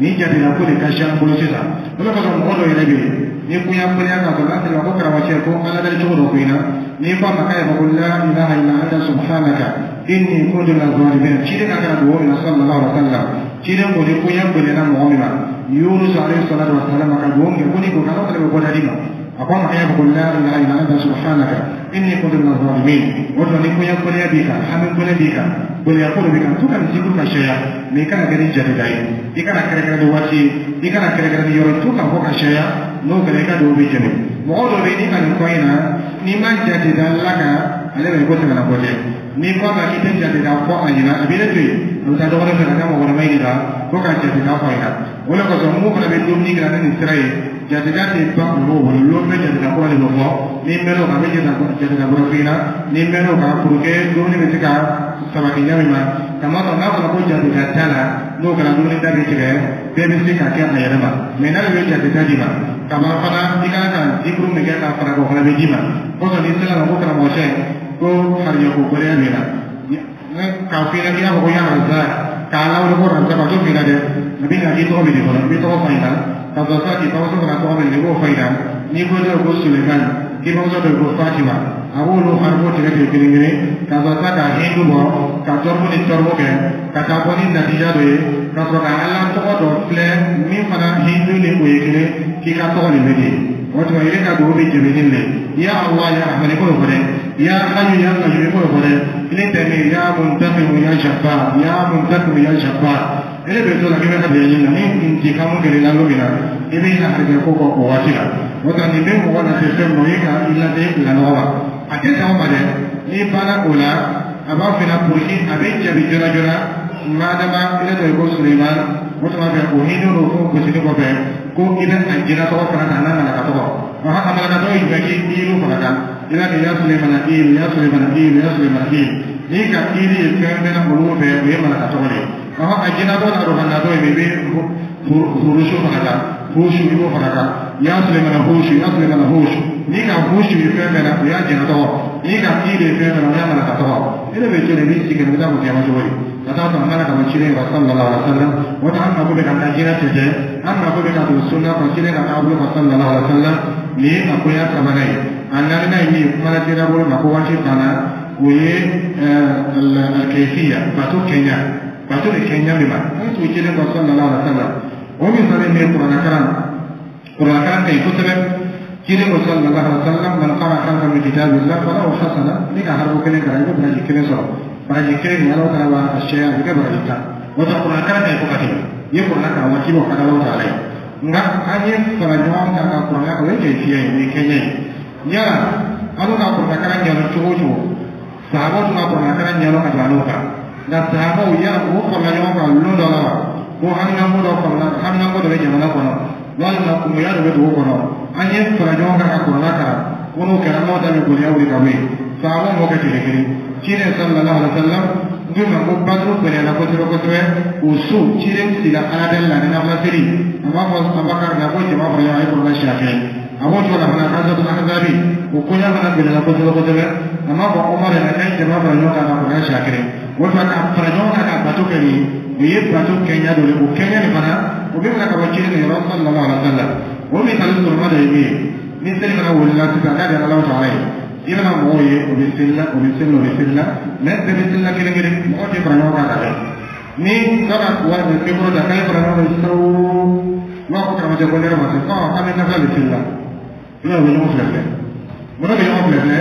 Nin jateda ko de ka si an bolo sisan. O de kosɔn mɔgɔ dɔw yɛrɛ bɛ yen ni koɲɛ koɲɛ k'a fɔ n'a sera ko karamɔgɔcɛ ko Ala dali cogo dɔ ko in na, n'i ko a ma k'a yɛrɛ ko la ilaha illa anta subhanaka inni kuntu minaz zalimin, ciden ka kan ka dugawu min na sallallahu alaihi wa sallam, ciden ko ni koɲɛ gɛlɛyara mɔgɔ min ma, Yunus alayhi salatu wa salam ka dugawu kɛ ko ni ko k'Ala fana bɛ bɔda di ma. A ko a ma k'a fɔ ko la ilaha illa anta subhanaka inni kuntu minaz zalimin. O tuma ni koɲɛ gɛlɛya b'i kan, hami gɛlɛya b'i kan, gɛlɛya ko dɔ b'i kan, to ka nin zikuru ka caya, mɛ i kana kɛ ni jateda ye, i kana kɛrɛkɛrɛ ni waati ye, i kana kɛrɛkɛrɛ ni yɔrɔ, to ka fɔ ka caya. N'o kɛra i ka dugawu bɛ jaabi. Mɔgɔ dɔ bɛ yen ni ka nin kɔ in na, n'i ma jateda la kan ale bɛ ko tɛmɛna kɔ cɛ. N'i ko a ma k'i tɛ jateda fɔ a ɲɛna, a b'i ne to yen, a bɛ taa dɔgɔnin fɛ ka taa mɔgɔkɔrɔba ɲininka ko ka jateda fɔ a ɲɛna. O de kosɔn mun fana bɛ dumuni kɛ ni nin sira ye, jateda tɛ ban olu bolo. Lon bɛ jateda kura de bɛ fɔ, n'i mɛn'o kan a bɛ jateda kura f'i ɲɛna. N'i mɛn'o kan pour que dumuni bɛ se ka sabati ɲɛ min ma, kamasɔrɔ n'a fɔra ko jateda t'a la, n'o kɛra dumuni da bɛ tigɛ, bɛɛ bɛ se ka kɛ a yɛrɛ ma. Mɛ n'ale bɛ jateda d'i ma Ka ban fana, i kan ka zikuru min kɛ k'a fara, o fana bɛ d'i ma. Kosɔn n'i sera ma ko karamɔgɔcɛ ko harijɛ ko gɛlɛya b'i la, k'a f'i ɲɛna k'i y'a fɔ ko ya Razak, k'a lawuli ko Razak, a t'o f'i ɲɛna dɛ. A bɛ na k'i tɔgɔ bɛ de fɔlɔ, i bɛ tɔgɔ f'a ɲɛna ka sɔrɔ sa k'i bamuso fana tɔgɔ bɛ, i b'o f'a ɲɛna. N'i ko dɔw ko Suleiman, k'i bamuso dɔw ko Fatima, a b'olu haribo tigɛ tigɛ kelen kelen ka sɔrɔ sa ka hindu bɔ, ka tɔrɔbu ni tɔrɔbu kɛ ka taa bɔ ni natija dɔ ye, ka sɔrɔ ka Ala tɔgɔ dɔ filɛ min fana hindu ni o ye kelen, k'i ka tɔgɔ de bɛ di. O tuma i ka dugawu bɛ jɛbɛni le ya Allah ya Rahman, i b'o fɔ dɛ, ya Hayyu ya Qayyum, i b'o fɔ dɛ. Ile tɛ min ya Muntaqimu ya Jabbar, ya Muntaqimu ya Jabbar. Ele bɛ to la k'i bɛ ka ɲini na ni intikamu kɛra i la don min na, i bɛ na harijɛ ko kɔ o waati la. O tuma nin bɛ mɔgɔ lase fɛn min ma, o ye ka i lase lanɔgɔ ma. A tɛ sɔn o ma dɛ. N'i banna o la, a b'a f'i ɲɛna pour que a bɛ jaabi joona joona. Madama ile tɔgɔ ko Suleiman, o tuma fɛ o hinɛ n'o fo gosili kɔfɛ ko i bɛ a jinɛ tɔgɔ fana ta n'a malaka tɔgɔ. A malaka tɔgɔ ye jumɛn? K'i ilu fana kan, i b'a kɛ ya Suleimana ilu, ya Suleimana ilu, ya Suleimana ilu. N'i ka ilu ye fɛn bɛɛ na olu fɛ, o ye malaka tɔgɔ de ye. A jinɛ tɔgɔ n'a dɔn natɔ ye, i bɛ furusu fana kan, furusu i b'o fana kan, ya Suleimana husu, ya Suleimana husu. N'i ka husu ye fɛn bɛɛ na, o y'a jinɛ tɔgɔ. N'i ka ilu ye fɛn bɛɛ na, o y'a malaka tɔgɔ. E de bɛ to de, i b'i sigi, i bɛ taa fɔ kiyama cogo di ka taa sɔrɔ mana ka bɔ ciden yɔrɔ sallallahu alaihi wa sallam. O tɛ an mako bɛ ka taa jinɛ cɛ, an mako bɛ ka don sunna kɔ, ciden ka taabolo kɔ sallallahu alaihi wa sallam. Nin ye a koɲa sabanan ye. A naaninan ye min ye, kuma la teliya bolo ma ko waati banna, o ye alkayfiya, bato kɛɲa, bato de kɛɲa min ma an ye tugu ciden kɔ sallallahu alaihi wa sallam. O misali min ye kuranɛ karan, kuranɛ karan ka ɲi kosɛbɛ. Ciden ko sallallahu alaihi wa sallam: man qara harfan min kitabillah falahu hasana. Ni ka harfu kelen kalan, i bɛ baraji kelen sɔrɔ. Baraji kelen nin, Ala taala b'a sɛya, a bɛ kɛ baraji 10. O tɛ kuranɛ karan ka ɲi fo ka tɛmɛ. I ye kuranɛ kalan waati b'o ka di Ala taala ye. Nka an ye fara ɲɔgɔn kan ka kuranɛ kalan, o ye kɛfiya ye, o ye kɛɲɛ ye. Yala an ka kuranɛ kalan ɲɛdɔn cogo o cogo, sahabaw tun ka kuranɛ kalan ɲɛdɔn ka tɛmɛ n'o kan. Nka sahabaw, yala o farala ɲɔgɔn kan lon dɔ la wa, ko haminanko dɔ farala, haminanko dɔ bɛ jamana kɔnɔ, walima kungoya dɔ bɛ dugu kɔnɔ, an ye fara ɲɔgɔn kan ka kuranɛ kalan, ko n'o kɛra n'o da bɛ gɔlɛya wuli ka bɔ yen? Sahabaw m'o kɛ tile kelen. Ciden sallallahu alaihi wa sallam n ko ma ko Baduru gɛlɛyara kosɛbɛ kosɛbɛ. O so ciden sila Ala deli la ni nafila seli. A b'a fɔ Abakari la ko jama fara ɲɔgɔn kan, a ye kuranɛ siɲɛ kelen. A b'o cogo la fana, Hazatul Ahzabi, o koɲa fana gɛlɛyara kosɛbɛ kosɛbɛ. A m'a fɔ Umar yɛrɛ k'a ye jama fara ɲɔgɔn kan ka kuranɛ siɲɛ kelen. O tuma ka fara ɲɔgɔn kan ka bato kɛ nin, o ye bato kɛɲa dɔ ye. O kɛɲa nin fana, o bɛ minɛ ka bɔ ciden yɔrɔ sallallahu alaihi wa sallam. O misali surunma dɔ ye min ye, ni seli fana wulila sisan k'a di Ala taala ye, i bɛna mɔgɔw ye, o bɛ seli la, o bɛ seli la, o bɛ seli la, mɛ bɛɛ bɛ seli la kelen kelen, mɔgɔ tɛ fara ɲɔgɔn kan ka kɛ. Ni dɔ ka wari bɛ micro ta k'a ye fara ɲɔgɔn kan sisan, u b'a fɔ karamɔgɔcɛ ko ne yɛrɛ ma se ɔ k'an bɛ nafila de seli la. I b'a ye u bɛ ɲɔgɔn filɛ filɛ, mɔgɔ bɛ ɲɔgɔn filɛ filɛ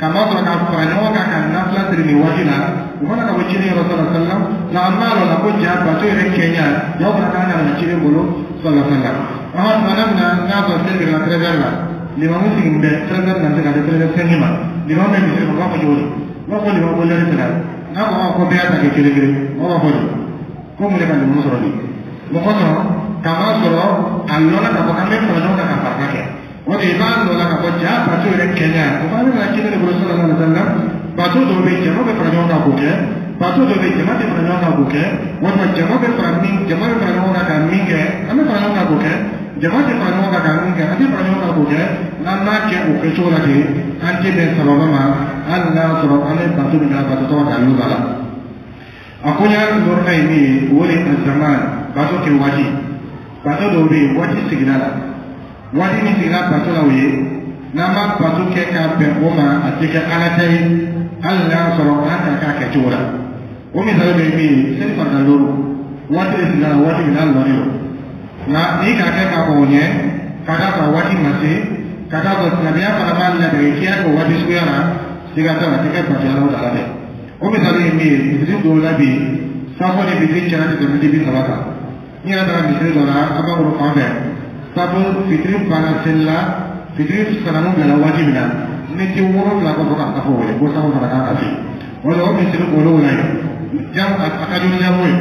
k'a ma sɔrɔ ka fara ɲɔgɔn kan ka nafila seli nin waati la. U mana ka bɔ ciden yɔrɔ sallallahu alaihi wa sallam, nka an b'a dɔn la ko ja bato yɛrɛ kɛɲa jaw fana kan ka na ciden bolo sallallahu alaihi wa sallam. Tuma min na n'a sɔrɔ seli bɛ na 13 heures la, limamu sigilen bɛ 13 heures na se ka se 13 heures 5 ma, limamu bɛ misiri kɔnɔ, u b'a fɔ cogo di? U b'a fɔ limamu ko lɛri sera. N'a ko ko bɛɛ y'a ta kɛ kelen kelen, mɔgɔ b'a fɔ di ko mun de ka limamu sɔrɔ bi? Mɔgɔ sɔrɔ k'a ma sɔrɔ a lɔnna k'a fɔ k'an bɛ fara ɲɔgɔn kan ka farika kɛ. O de i b'a dɔn la k'a fɔ ja bato yɛrɛ kɛɲa, o fana bɛ na ciden de bolo sallallahu alaihi wa sallam. Bato dɔw bɛ yen, jama bɛ fara ɲɔgɔn kan k'o kɛ. Bato dɔw bɛ yen, jama tɛ fara ɲɔgɔn kan k'o kɛ. Walima jama bɛ fara min, jama bɛ fara ɲɔgɔn kan ka min kɛ, an bɛ fara ɲɔgɔn kan k'o kɛ. Jama tɛ fara ɲɔgɔn kan ka min kɛ, an tɛ fara ɲɔgɔn kan k'o kɛ. N'an m'a kɛ o kɛcogo la ten, an tɛ bɛn sababa ma, hali n'a sɔrɔ an bɛ bato min kɛ, bato tɔgɔ dalilu b'a la. A koɲa dɔrɔn ye min ye, o de ye zaman bato kɛ waati. Bato dɔw bɛ yen, waati sigira la, waati min sigira bato la, o ye n'an ma bato kɛ k'a bɛn o ma, a tɛ kɛ Ala ta ye, hali n'a sɔrɔ an ka k'a kɛcogo la. O misali dɔ ye min ye, seli farida 5, waati de sigira la, waati min n'a lɔnnen don. Nka n'i k'a kɛ k'a o ɲɛ ka d'a kan waati ma se, ka d'a kan silamɛya fana b'a ladege k'i y'a kɛ o waati suguya la, siga t'a la, a tɛ kɛ bato Ala taala fɛ. O misali ye min ye, misiri dɔw la bi, safo ni fitiri cɛla tɛ tɛmɛ 30 kan. N yɛrɛ taara misiri dɔ la an b'a bolo fan fɛ, safo fitiri banna seli la, fitiri sanamu bilala waati min na, miniti 7 kɔfɛ ka safo wele ko safo fana kan ka se. O la o misiri olu la yen, jam a ka jugu ni jago ye,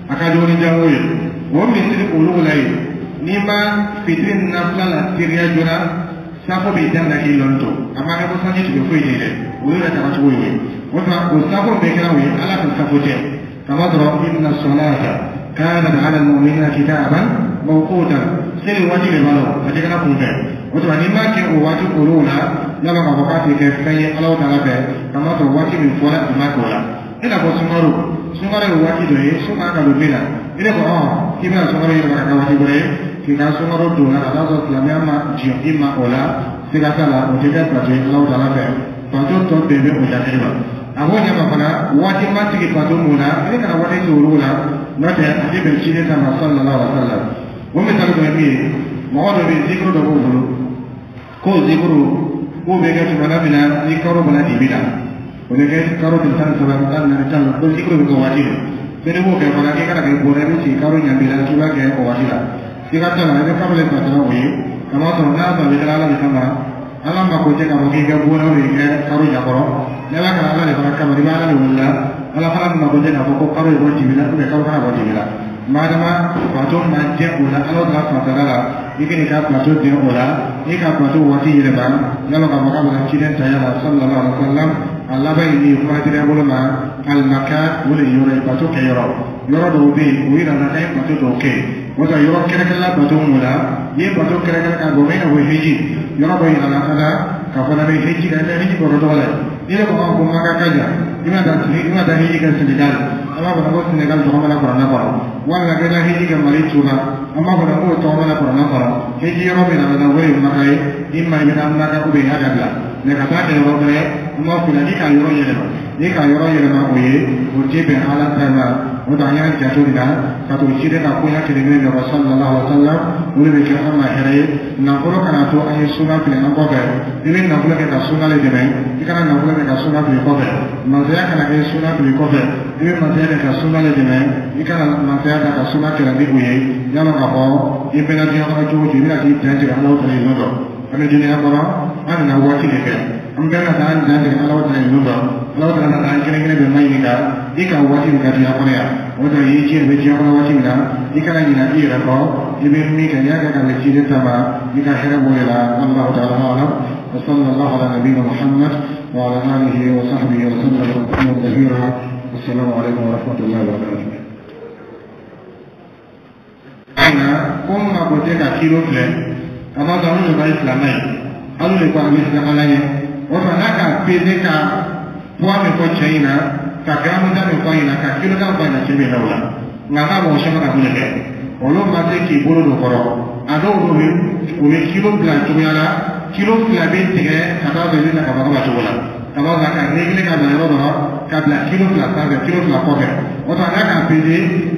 a ka jugu ni jago ye. O misiri olu la yen, n'i ma fitiri nafila la teriya joona, safo b'i daminɛ k'i lɔn to. A ma kɛ ko sanji tigɛ foyi tɛ dɛ, o yɛrɛ taga cogo ye. O tuma o safo bɛɛ kɛra o ye Ala ka safo tɛ, kama sɔrɔ inna salata kanat ala almu'minina kitaban. Mɔgɔ kow t'a la, seli waati de b'a la, a tɛ kɛra kun fɛ. O tuma n'i m'a kɛ o waati olu la, yala k'a fɔ k'a tɛ kɛ fɛn ye Ala ta fɛ, k'a ma sɔrɔ waati min fɔra i ma kɛ o la. I n'a fɔ sunkalo, sunkalo ye waati dɔ ye, su kan ka don min na, i ne ko k'i bɛna sunkalo yɛlɛma ka kɛ waati wɛrɛ ye, k'i ka sunkalo don la ka taa sɔrɔ silamɛya ma jɔ i ma o la, siga t'a la, o tɛ kɛ bato ye Ala ta fɛ. Bato tɔ bɛɛ bɛ o jate ma. A b'o ɲɛma fana, waati ma sigi bato mun na, i kana waati sigi olu la, n'o tɛ a tɛ bɛn ciden ta ma sallallahu alaihi wa sallam. O misali dɔ ye min ye, mɔgɔ dɔ bɛ yen, zikuru dɔ b'o bolo, k'o zikuru k'o bɛ kɛ tuma min na ni karo bɔra dibi la, o bɛ kɛ karo tile 13, 14, 10, ko zikuru bɛ kɛ waati de. Fɛnɛ b'o kɛ fana k'i kana kɛ bɔrɛ, i bɛ sigi karo ɲanbi la k'i b'a kɛ o waati la. Siga t'a la, i bɛ karo de batara o ye, k'a sɔrɔ n'a sɔrɔ a bɛ kɛ Ala de kama, Ala mako tɛ k'a fɔ k'i kɛ bɔrɛ o de kɛ karo ɲɛkɔrɔ. N'i b'a kɛ Ala de fana kama, i bɛ Ala de wele la, Ala fana mako tɛ k'a fɔ ko karo ye bɔ dibi la, karo kana bɔ dibi la. Madama bato ma jɛ o la, Ala ta fatara la, i k'i ka bato den o la, i ka bato waati yɛlɛma, yala k'a fɔ k'a bɛna ciden ta yala sallallahu alaihi wa sallam. A laban ye min ye, kuma dira bolo ma, alimaka o de ye yɔrɔ ye, bato kɛ yɔrɔ. Yɔrɔ dɔw bɛ yen, o yira la k'an ye bato dɔw kɛ. O tɛ yɔrɔ kɛrɛnkɛrɛnna bato mun la, n'i ye bato kɛrɛnkɛrɛn ka bɔ, i n'a fɔ heji, yɔrɔ dɔ yira la fana k'a fɔ n'an bɛ heji kɛ, an bɛ heji kɔrɔ tɔgɔ la. N'i yɛrɛ ko ko Maka ka jan, i bɛna taa i bɛna taa heji kɛ Senegal, an b'a fɔ ko Senegal tɔgɔ mana kuranɛ kɔrɔ, walima k'i taa heji kɛ Mali Tuba, an b'a fɔ k'o tɔgɔ mana kuranɛ kɔrɔ. Heji yɔrɔ min na o ye Maka ye, i ma i bɛ taa Maka i y'a dabila. Mɛ ka taa kɛ yɔrɔ wɛrɛ, an b'a f'i ɲɛna k'i ka yɔrɔ yɛlɛma, n'i ka yɔrɔ yɛlɛma o ye, o tɛ bɛn Ala ta ma. O tɛ an y'an janto nin na, ka to ciden ka koɲɛ kelen kelen bɛɛ sallallahu alaihi wa sallam, o de bɛ kɛ an ma hɛrɛ ye. Nafolo kana to an ye suna fili an kɔfɛ, i bɛ nafolo kɛ ka suna le dɛmɛ, i kana nafolo kɛ ka suna fili kɔfɛ. Masaya kana kɛ suna fili kɔfɛ, i bɛ masaya kɛ ka suna le dɛmɛ, i kana masaya ta ka suna kɛlɛ ni o ye. Yala k'a fɔ i bɛna diɲɛ kɔnɔ cogo o cogo, i bɛna k'i dan tigɛ Ala ta ye don dɔ. An bɛ dunuya kɔnɔ, an nana waati de kɛ, an bɛɛ ka taa an dan tigɛ Ala ta ye don dɔ. Ala ta nana an kelen kelen bɛɛ ma ɲininka i ka waati min ka dunuya kɔnɔ yan. O tɛ i diɲɛ bɛ diɲɛ kɔnɔ waati min na, i kana ɲinɛ i yɛrɛ kɔ, i bɛ min kɛ, n'i y'a kɛ ka bɛn ciden ta ma, i ka hɛrɛ b'o de la. Wallahu ta'ala a'lam. Wa sallallahu ala nabiyyina Muhammad wa ala alihi wa sahbihi wa sallam tasliman kathira. Assalamu alaikum wa rahmatullahi wa barakatuh. Nka ko n mako tɛ ka kilo filɛ, ka ma sɔrɔ olu de ka ye silamɛ ye, olu de ko a bɛ siran Ala ɲɛ. O tuma n'a ka peze ka poids min fɔ cɛ in na, ka garamu ta min fɔ a ɲɛna, ka kilo ta fɔ a ɲɛna, cɛ bɛ na o la. Nka n'a mɔgɔ caman ka mun de kɛ, olu ma se k'i bolo don kɔrɔ. A dɔw bɛ u bɛ kilo bila cogoya la, kilo 2 bɛ tigɛ ka taa sɔrɔ i bɛ na ka bɔ ka cogo la, ka bɔ ka régler ka bila yɔrɔ dɔ la, ka bila kilo 2 sanfɛ, kilo 2 kɔfɛ. O tuma n'a ka peze,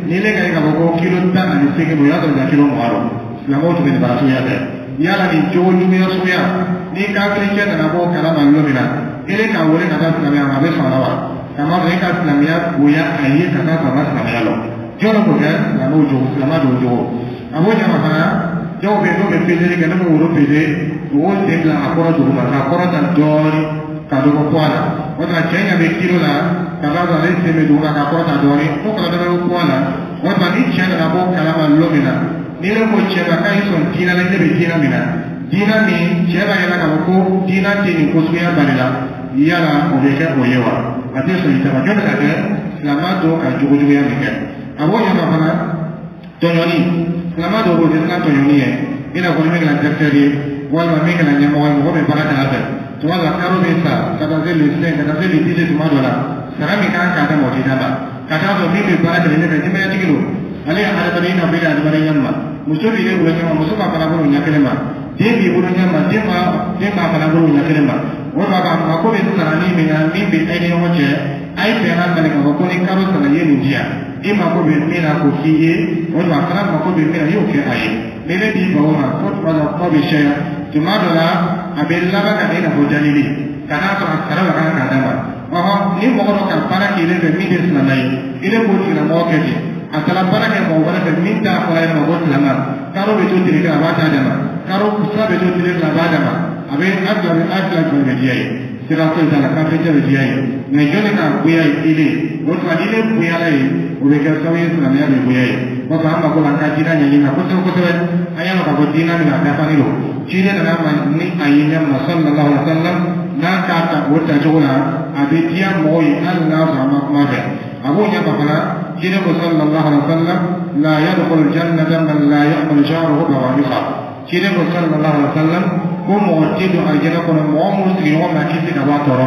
ni ne ka ye k'a fɔ ko kilo 18 don, o y'a sɔrɔ i ka kilo 20 don. Silamɛw tun bɛ nin baara suguya kɛ. Yala nin cogo juguya suguya, ni kafiri cɛ nana bɔ kalama lon min na, e k'a wele ka taa silamɛya ma, a bɛ sɔn a la wa? K'a masɔrɔ e ka silamɛya bonya a ye ka taa sɔrɔ a ma silamɛya lɔ. Jɔn b'o kɛ? Silamɛw jogo, silamɛ dɔw jogo. A b'o ɲɛma fana, dɔw bɛ yen n'o bɛ peseli kɛ, n'o bɛ woro pese, u b'o sen bila a kɔrɔ duguma, k'a kɔrɔ ta dɔɔnin, ka dɔ bɔ poids la. O tuma cɛ ɲɛ bɛ kilo la, ka taa sɔrɔ ale sen bɛ duguma k'a kɔrɔ ta dɔɔnin, n'o kɛra dɔ bɛ bɔ poids la. O tuma ni cɛ nana bɔ kalama lon min na, ni ne ko cɛ ma k'a y'i sɔn diinɛ la, ne bɛ diinɛ min na, diinɛ min cɛ b'a yira k'a fɔ ko diinɛ tɛ nin ko suguya bali la, yala o bɛ kɛ o ye wa? A tɛ sɔn i ta ma. Jɔn bɛ ka kɛ silamɛ dɔw ka jogo juguya min kɛ, a b'o ɲɛma fana tɔɲɔni. Silamɛ dɔw b'o tɛ siran tɔɲɔni ye, i n'a fɔ ni min kɛra directeur ye, walima min kɛra ɲɛmɔgɔ ye, mɔgɔ bɛ baara kɛ a fɛ. Tuma dɔ la karo bɛ sa ka taa se le 5, ka taa se le 10, tuma dɔ la sara min kan k'a d'a ma, o tɛ d'a ma. Ka taa sɔrɔ min bɛ baara kɛ ne fɛ, denbayatigi don, ale ye hadamaden, i n'a fɔ e ye hadamaden ɲɛ ma. Muso b'i bolo ɲɛ ma, muso b'a fana bolo ɲɛ kelen ma, den b'i bolo ɲɛ ma, den b'a fana bolo ɲɛ kelen ma. O tuma k'a mako bɛ sarani min na, min bɛ e ni ɲɔgɔn cɛ, a ye bɛnna bali k'a fɔ ko ni karo sara i ye nin di yan, i mako bɛ min na k'o k'i ye, o tuma a fana mako bɛ min na, i y'o kɛ a ye. Ni ne b'i ban o ma, ko tuma dɔ kuma bɛ caya, tuma dɔ la a bɛ laban ka kɛ i n'a fɔ jalili, ka n'a sɔrɔ a sara la kan k'a d'a ma. Ɔhɔn, ni mɔgɔ dɔ ka baara k'i fɛ min tɛ silamɛ ye, i ne k'o tigilamɔgɔ kɛ ten, a taara baara kɛ mɔgɔ wɛrɛ fɛ min t'a fɔra yɛrɛ ma ko silamɛ, karo bɛ to tile kelen a b'a ta d'a ma, karo sira bɛ to tile fila a b'a d'a ma, a bɛ a fila a fila jumɛn bɛ diya ye? Sira foyi t'a la, kafiri cɛ bɛ diya ye. Mɛ jɔnni ka goya ye ile? O tuma ni ne goyala ye, o bɛ kɛ sababu ye silamɛya bɛ goya ye. O tuma an mako b'an ka diinɛ ɲɛɲini na kosɛbɛ kosɛbɛ. An y'a dɔn k'a fɔ diinɛ min a dafalen don, ciden nana ma ni a ye ɲɛ ma sallallahu alaihi wa sallam, n'a k'a ta o tacogo la, a bɛ diya mɔgɔw ye hali n'a sɔrɔ a ma kuma fɛ. A b'o ɲɛ ma fana. Ciden ko sallallahu alaihi wa sallam la yadkhulu jannata man la ya'malu jaruhu bawa'iqa. Ciden ko sallallahu alaihi wa sallam ko mɔgɔ tɛ don alijana kɔnɔ mɔgɔ minnu sigiɲɔgɔn ma kisi ka bɔ a tɔɔrɔ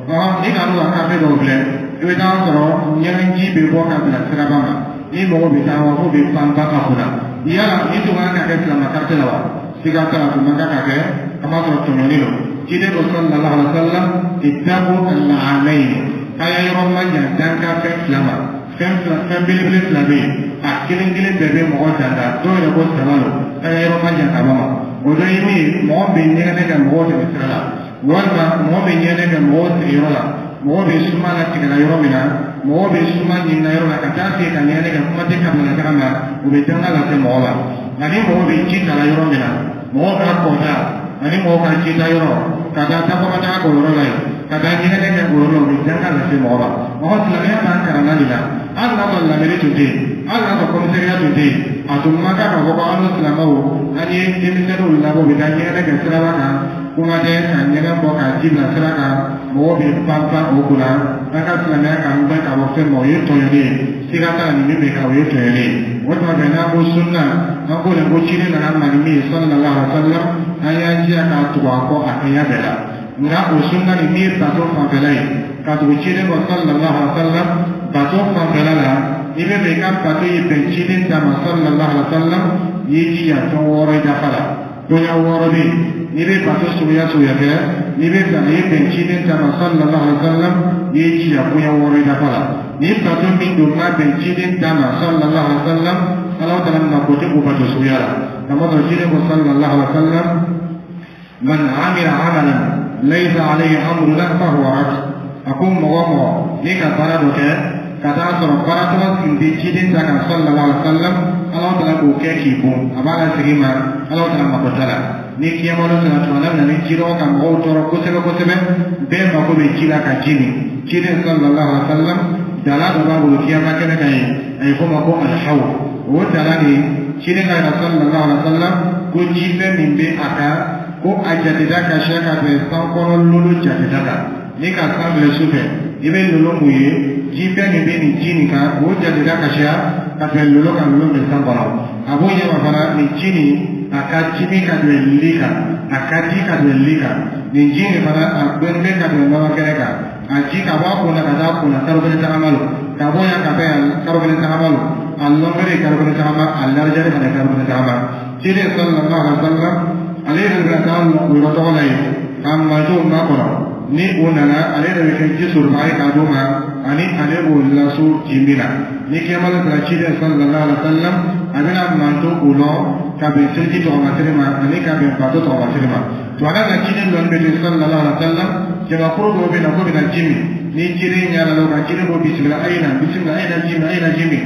ma. Ni ka n'u ka kafe dɔw filɛ, i bɛ taa sɔrɔ ɲɛgɛnji bɛ bɔ ka bila siraba ma, ni mɔgɔ bɛ taa wa k'o bɛ pan ba ka kunna. Yala ni tun kan ka kɛ silamɛ quartier la wa? Siga t'a la, tun man kan ka kɛ, an b'a sɔrɔ tɔɲɔni don. Ciden ko sallallahu alaihi wa sallam ittaqu al-la'anayn, k'a y'a yɔrɔ ma jan dankan fɛn fila ma. Fɛn fila, fɛn belebele fila bɛ yen, a kelen kelen bɛɛ bɛ mɔgɔ danga, dɔw yɛrɛ ko saba don, k'a y'a yɔrɔ ma jan ka bɔ ma. O dɔ ye min ye, mɔgɔ bɛ ɲɛgɛnɛ kɛ mɔgɔw tɛmɛ sira la, walima mɔgɔ bɛ ɲɛgɛnɛ kɛ mɔgɔw sigiyɔrɔ la, mɔgɔ bɛ suma la tigɛla yɔrɔ min na, mɔgɔ bɛ suma ɲinina yɔrɔ la ka taa se ka ɲɛgɛnɛ kɛ, kuma tɛ kabila taga ma, o bɛ danga lase mɔgɔ ma. Ani mɔgɔ bɛ ji ta la yɔrɔ min na, mɔgɔ ka kɔta ani mɔgɔ ka ji ta yɔrɔ, ka taa takɔma taga k'o yɔrɔ la yen, ka taa ɲɛgɛnɛ kɛ o yɔrɔ la, o bɛ danga lase mɔgɔ ma. Mɔgɔ silamɛya b'an kalan de la, hali n'a sɔrɔ lamɛnni tun tɛ yen, hali n'a sɔrɔ commissariat tun tɛ yen, a tun man kan k'a fɔ ko an n'o silamɛw an ye denmisɛnninw labɔ u bɛ taa ɲɛgɛnɛ kɛ siraba kan, kuma tɛ ka ɲɛgɛn bɔ k'a ji bila sira kan, mɔgɔw bɛ pan pan o kunna. An ka silamɛya k'an gbɛn ka bɔ fɛn ma, o ye tɔɲɔni ye, siga t'a la, nin min bɛ kɛ o ye tɔɲɔni ye. O tuma fɛ n'an ko sunna, an ko de ko ciden nana ma ni min ye sallallahu alaihi wa sallam, an y'an jija k'a tugu a kɔ a kɛɲɛ bɛɛ la. Nka o sunna nin min ye bato fanfɛla ye, ka tugu ciden kɔ sallallahu alaihi wa sallam bato fanfɛla la, n'i bɛ fɛ i ka bato ye bɛn ciden ta ma sallallahu alaihi wa sallam, i y'i jija fɛn wɔɔrɔ i dafa la. Bonya wɔɔrɔ bɛ yen, n'i bɛ bato suguya suguya kɛ, n'i bɛ fɛ a ye bɛn ciden ta ma sallallahu alaihi wa sallam, i y'i jija bonya wɔɔrɔ i dafa la. Ni bato min don n'a bɛn ciden ta ma sallallahu alaihi wa sallam, Ala taala mako tɛ o bato suguya la. Kamasɔrɔ ciden ko sallallahu alaihi wa sallam man amila amalan laysa alayhi amruna fahuwa rad. A ko mɔgɔ mɔgɔ n'i ka baara dɔ kɛ ka taa sɔrɔ baara tɔgɔ tun tɛ ciden ta kan sallallahu alaihi wa sallam, Ala taala k'o kɛ k'i bon, a b'a lasegin ma, Ala taala mako t'a la. Ni kiyama dɔ sera tuma min na, ni jidɔgɔ ka mɔgɔw tɔɔrɔ kosɛbɛ kosɛbɛ, bɛɛ mako bɛ ji la ka ji min, ciden sallallahu alaihi wa sallam dala dɔ b'a bolo kiyama kɛnɛ kan yen, a ye fɔ o ma ko alhaw. O dala nin, ciden ka yira sallallahu alaihi wa sallam ko jifɛn min bɛ a kan, ko a jateda ka siya ka bɛn san kɔnɔ lolo jateda kan. Ni ka san filɛ su fɛ, i bɛ lolo mun ye, jifɛn min bɛ nin ji nin kan, o jateda ka siya ka bɛn lolo kan, lolo bɛ san kɔnɔ. A b'o ɲɛma fana, nin ji nin a ka timi ka bɛn li kan, a ka di ka bɛn li kan. Nin ji nin fana a gbɛnnen bɛ ka bɛn nɔnɔ kɛnɛ kan. A ji ka bɔ a kun na ka taa a kun na karo kelen tagama lo, ka bɔ yan ka taa yan karo kelen tagama lo, a longueur ye karo kelen tagama, a largeur fana ye karo kelen tagama. Ciden sallallahu alaihi wa sallam ale yɛrɛ bɛna taa o yɔrɔ tɔgɔ la yen k'a mantonw makɔnɔ. Ni o nana, ale yɛrɛ bɛ kɛ ji sɔrɔbaga ye k'a d'o ma, ani ale b'o laso ji min na. Ni kiyama sera, ciden sallallahu alaihi wa sallam a bɛna manton o lɔ ka bɛn seliji tɔgɔmasiri ma ani ka bɛn bato tɔgɔmasiri ma. Tuma na ciden lɔnni bɛ to sallallahu alaihi wa sallam, jamakuru dɔw bɛ na k'o bɛna ji min. Ni ciden ɲɛ la o kan, ciden ko bisimila, a ye na, bisimila, a ye na ji min, a ye na ji min.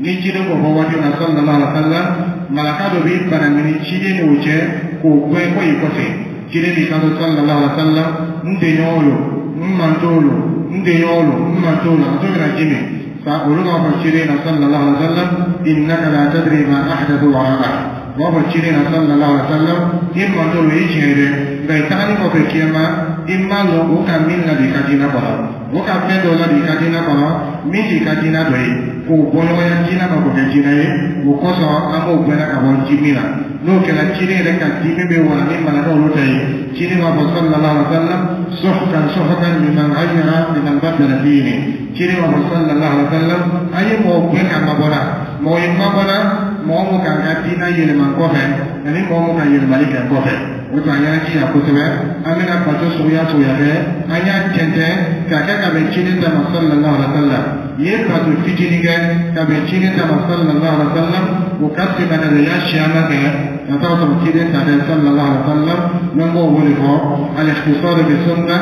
Ni ciden k'o fɔ waati min na sallallahu alaihi wa sallam, malaka dɔ b'i bana ni ciden n'o cɛ k'o gɛn ko i kɔfɛ. Ciden b'i kanto sallallahu alaihi wa sallam, n denɲɔgɔnw lo, n mantonw lo, n denɲɔgɔnw lo, n mantonw lo, a t'o bɛna ji min. Fa olu b'a fɔ ciden na sallallahu alaihi wa sallam innaka la tadri ma ahdathu wara'ak. U b'a fɔ ciden na sallallahu alaihi wa sallam, i mantonw lo, i tiɲɛ ye dɛ, nka i tagalen kɔfɛ kiyama, i m'a lɔn o ka min ladon i ka diinɛ kɔnɔ, o ka fɛn dɔ ladon i ka diinɛ kɔnɔ min t'i ka diinɛ dɔ ye, k'o bɔ ɲɔgɔnya diinɛ ma k'o kɛ diinɛ ye. O kosɔn an b'o gbɛnna ka bɔ ji min na. N'o kɛra, ciden yɛrɛ ka dimi bɛ wala ni malaka olu ta ye. Ciden b'a fɔ sallallahu alaihi wa sallam suhkan suhkan liman ghayyara liman baddala dini. Ciden b'a fɔ sallallahu alaihi wa sallam, an ye mɔgɔ gbɛn ka mabɔla, mɔgɔ ye mabɔla, mɔgɔ mun k'an ka diinɛ yɛlɛma kɔfɛ ani mɔgɔ mun ka yɛlɛmali kɛ kɔfɛ. O tuma an y'an jija kosɛbɛ, an bɛna bato suguya suguya kɛ, an y'a tɛntɛn k'a kɛ ka bɛn ciden ta ma sallallahu alaihi wa sallam. I ye bato fitinin kɛ ka bɛn ciden ta ma sallallahu alaihi wa sallam, o ka fisa ka bɛn i y'a siyaman kɛ ka taa sɔrɔ ciden ta tɛ sallallahu alaihi wa sallam. N'an b'o wele fɔ al-ikhtisar bi sunna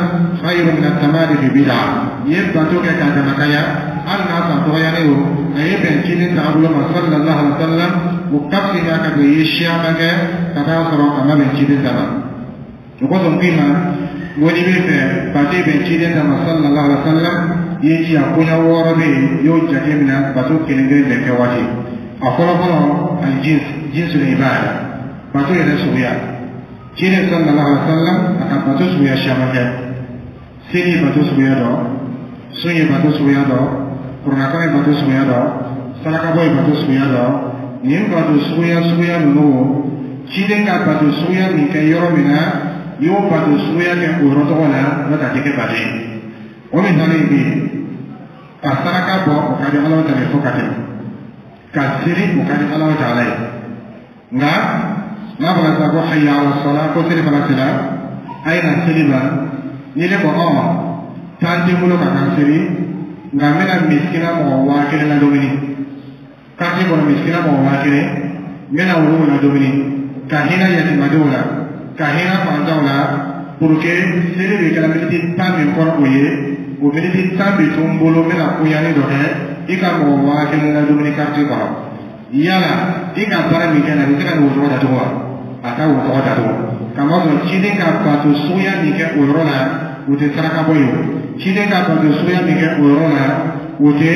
khayru min at-tamadi fi bid'a. I ye bato kɛ k'a damakaya, hali n'a san dɔgɔyalen o, a ye bɛn ciden taabolo ma sallallahu alaihi wa sallam, o ka fisa ka bɛn i ye siyaman kɛ ka taa sɔrɔ a ma bɛn ciden ta ma. O kosɔn k'i ma n ko n'i bɛ fɛ bato bɛn ciden ta ma sallallahu alaihi wa sallam, i ye jija koɲɛ wɔɔrɔ bɛ yen, i y'o jate minɛ bato kelen kelen bɛɛ kɛ waati. A fɔlɔ fɔlɔ, al-jins, jinsul ibada, bato yɛrɛ suguya. Ciden sallallahu alaihi wa sallam a ka bato suguya caman kɛ. Seli ye bato suguya dɔ, sun ye bato suguya dɔ, Kuranakalan ye bato suguya dɔ, sarakabɔ ye bato suguya dɔ. Nin bato suguya suguya ninnu, ciden ka bato suguya min kɛ yɔrɔ min na, i y'o bato suguya kɛ o yɔrɔ tɔgɔ la, n'o tɛ a tɛ kɛ bato ye. O misali ye min ye, ka saraka bɔ, o ka di Ala ta ye fo ka tɛmɛ. Ka seli, o ka di Ala ta ye. Nka n'a fɔra sisan ko hayya ala sala, ko seli fana sera, a ye na seli ma, ni ne ko ɔ tan tɛ n bolo ka taa seli, nka n bɛna misikina mɔgɔ 1000 ladumuni quartier kɔnɔ, misikina mɔgɔ 1000, n bɛna olu ladumuni, ka hinɛ yatimadenw la, ka hinɛ fantanw la, pour que seli bɛ kɛra miniti 10 min kɔnɔ, o ye o miniti 10 bɛ to n bolo, n bɛna koɲani dɔ kɛ, i ka mɔgɔ 1000 ladumuni quartier kɔnɔ. Yala i ka baara min kɛ nin, a bɛ se ka nin wo tɔgɔ datugu wa? A ka wo tɔgɔ datugu, kamasɔrɔ ciden ka bato suguya min kɛ o yɔrɔ la, o tɛ saraka bɔ ye. O ciden ka bato suguya min kɛ o yɔrɔ la, o tɛ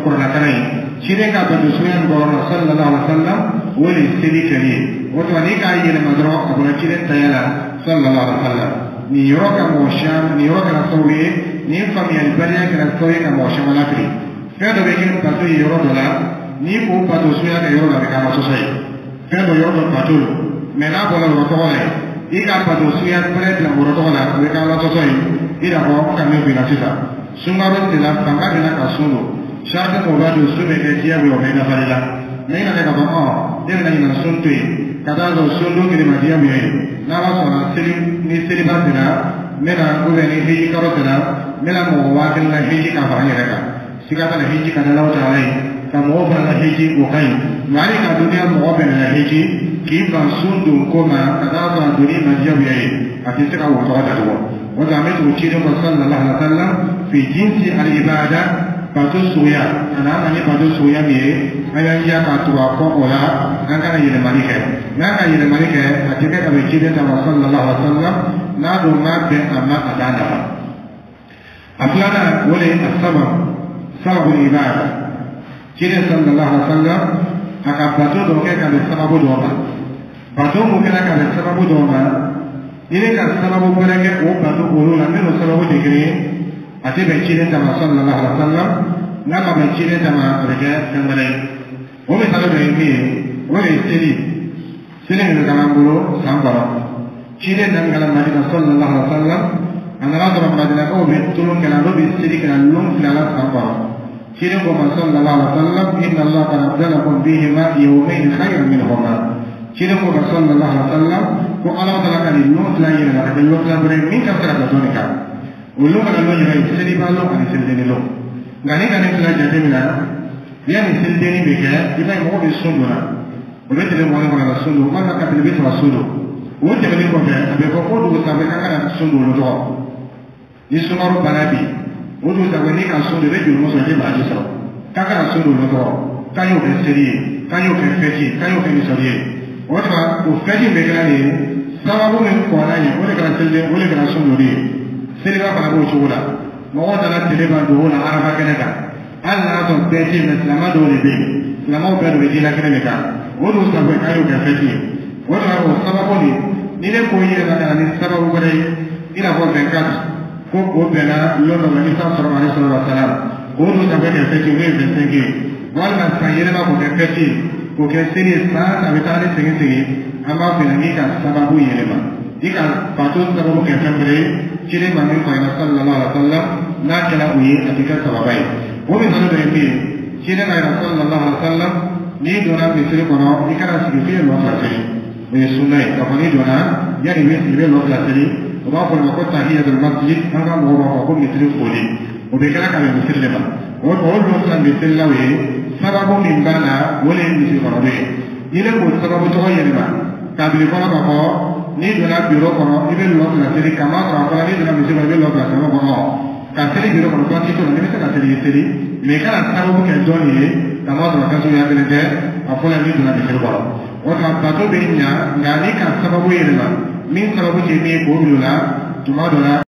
kuranɛkalan ye. Ciden ka bato suguya min kɛ o yɔrɔ la, sallallahu alaihi wa sallam, o de ye seli kɛli ye. O tuma n'i k'a yɛlɛma dɔrɔn, a bɔra ciden taya la, sallallahu alaihi wa sallam. Nin yɔrɔ ka mɔgɔ caman, nin yɔrɔ kɛra sababu ye, nin faamuyalibaliya kɛra sababu ye ka mɔgɔ caman lafili. Fɛn dɔ bɛ kɛ bato ye yɔrɔ dɔ la, n'i k'o bato suguya kɛ yɔrɔ dɔ, a bɛ kɛ ala sɔsɔ ye. Fɛn dɔ, yɔrɔ dɔ bato don, mɛ n'a bɔra yɔrɔ tɔgɔ la yen, i ka bato suguya wɛrɛ bila yɔrɔ tɔgɔ la, o bɛ kɛ ala sɔsɔ ye. I n'a fɔ ka min f'i la sisan, sunkalo sera, fanga bɛ na ka sun don, sarati mɔgɔ b'a don, sun bɛ kɛ diyagoya, o bɛ dafali la. Mɛ i nana k'a fɔ ɔ ne bɛna ɲinan sun to yen ka taa sɔrɔ sun don kelen ma diyagoya ye, n'Ala sɔnna, seli ni seliba sera, n bɛna, ou bien ni hiji kalo sera, n bɛna mɔgɔ 1000 la hiji ka fara n yɛrɛ kan. Siga t'a la, hiji ka di Alahu taala ye, ka mɔgɔw fana la hiji, o ka ɲi. Nka hali ka duniya mɔgɔ bɛɛ la hiji, k'i ban sun don ko ma ka taa sɔrɔ a donni ma diyagoya ye, a tɛ se ka wo tɔgɔ datugu. O la, an bɛ tugu ciden kɔ, sallallahu alaihi wa sallam, fi jinsi al ibada, bato suguya. A n'an ma ni bato suguya min ye, an y'an jija k'a tugu a kɔ o la, an kana yɛlɛmali kɛ. N'an ka yɛlɛmali kɛ, a tɛ kɛ ka bɛn ciden ta ma, sallallahu alaihi wa sallam. N'a dun ma bɛn a ma, a t'a nafa. A filanan, o de ye a sababu, sababu ibada. Ciden sallallahu alaihi wa sallam, a ka bato dɔ kɛ ka bɛn sababu dɔ ma. Bato mun kɛra ka bɛn sababu dɔ ma, i bɛ ka sababu wɛrɛ kɛ o bato olu la, minnu sababu tɛ kelen ye, a tɛ bɛn ciden ta ma, sallallahu alaihi wa sallam. N'a ma bɛn ciden ta ma, a bɛ kɛ fɛn wɛrɛ ye. O misali dɔ ye min ye, o de ye seli. Seli min bɛ k'an bolo san kɔnɔ, ciden nana ka na Madina, sallallahu alaihi wa sallam, a nana sɔrɔ Madinakaw bɛ tulon kɛla, n'o bɛ seli kɛla lon 2 la san kɔnɔ. Ciden ko ma, sallallahu alaihi wa sallam, inna Allah qad abdalakum bihima yawmayn khayran minhuma. Ciden ko ma, sallallahu alaihi wa sallam, ko Ala taala ka nin lon 2 yɛlɛma ka kɛ lon 2 wɛrɛ min ka fisa ka dɔɔnin kan. O lon kana lon yɛrɛ ye seliba lon ani selideni lon. Nka ni ka nin fila jateminɛ, yanni selideni bɛ kɛ, i b'a ye mɔgɔw bɛ sun don na, o bɛ tile 20 kɔnɔ ka sun don, walima ka tile 30 sun don. O tɛmɛnen kɔfɛ, a bɛ fɔ ko dugu sanfɛ k'an kana sun don olu tɔgɔ. Ni sunkalo banna bi, o dugu sanfɛ n'i ka sun don, i bɛ juru sɔrɔ, i tɛ baraji sɔrɔ. K'an kana sun don olu tɔgɔ, k'an y'o kɛ seli ye, k'an y'o kɛ fɛti ye, k'an y'o kɛ nisɔndiya ye. O tuma, o fɛti min bɛ kɛra nin ye, sababu min kɔnna yen, o de kɛra seliden, o de kɛra sun donni ye. Seliba fana b'o cogo la. Mɔgɔw nana tile ban dugu la Arafa kɛnɛ kan, hali n'a sɔrɔ bɛɛ tɛ yen, mɛ silamɛ dɔw de bɛ yen, silamɛw bɛɛ de bɛ diinɛ kɛnɛ de kan. O dun sanfɛ k'an y'o kɛ fɛti ye. O tuma, o sababu nin, ni ne ko i yɛrɛ ka na ni sababu wɛrɛ ye, i n'a fɔ 24, ko o bɛnna lon dɔ ma, Isa sɔrɔ alayhi salatu wa salam, k'o dun sanfɛ kɛ fɛti ye, o ye 25 ye, walima san yɛlɛma k'o kɛ fɛti ye, k'o kɛ seli ye, san a bɛ taa ni segin segin, an b'a fɛ n'i ka sababu yɛlɛma, i ka bato sababu kɛ fɛn wɛrɛ ye, ciden ma min fɔ a ɲɛna, sallallahu alaihi wa sallam, n'a kɛra o ye, a tɛ kɛ sababa ye. O misali dɔ ye min ye, ciden ka yɛrɛ, sallallahu alaihi wa sallam, n'i donna misiri kɔnɔ, i kana sigi f'i ye lɔ 2 seli. O ye sunna ye k'a fɔ n'i donna, yanni i bɛ sigi, i bɛ lɔ 2 seli. O b'a fɔ o ma ko tahiyatul masjid, an ka mɔgɔw b'a fɔ ko misiri foli. O bɛ kɛra ka bɛn misiri de ma. O lɔ 2 misirilaw ye, sababu min b'a la, o de ye misiri kɔnɔ ye. N'i bɛ k'o sababu tɔgɔ yɛlɛma k'a bila i kɔnɔ k'a fɔ n'i donna biro kɔnɔ, i bɛ lɔ 2 seli, k'a masɔrɔ a fɔra n'i donna misiri kɔnɔ, i bɛ lɔ 2 seli kɔnɔ, ka seli biro kɔnɔ, baasi t'o la. N'i bɛ se ka seli, i seli, mɛ i kana sababu kɛ dɔ nin ye, k'a masɔrɔ fɛn suguya kelen tɛ. A fɔlɔ, n'i donna misiri kɔnɔ, o tuma bato bɛ ɲa. Nka n'i ka sababu yɛlɛma min sababu tɛ min ye, k'o bila o la tuma dɔ la.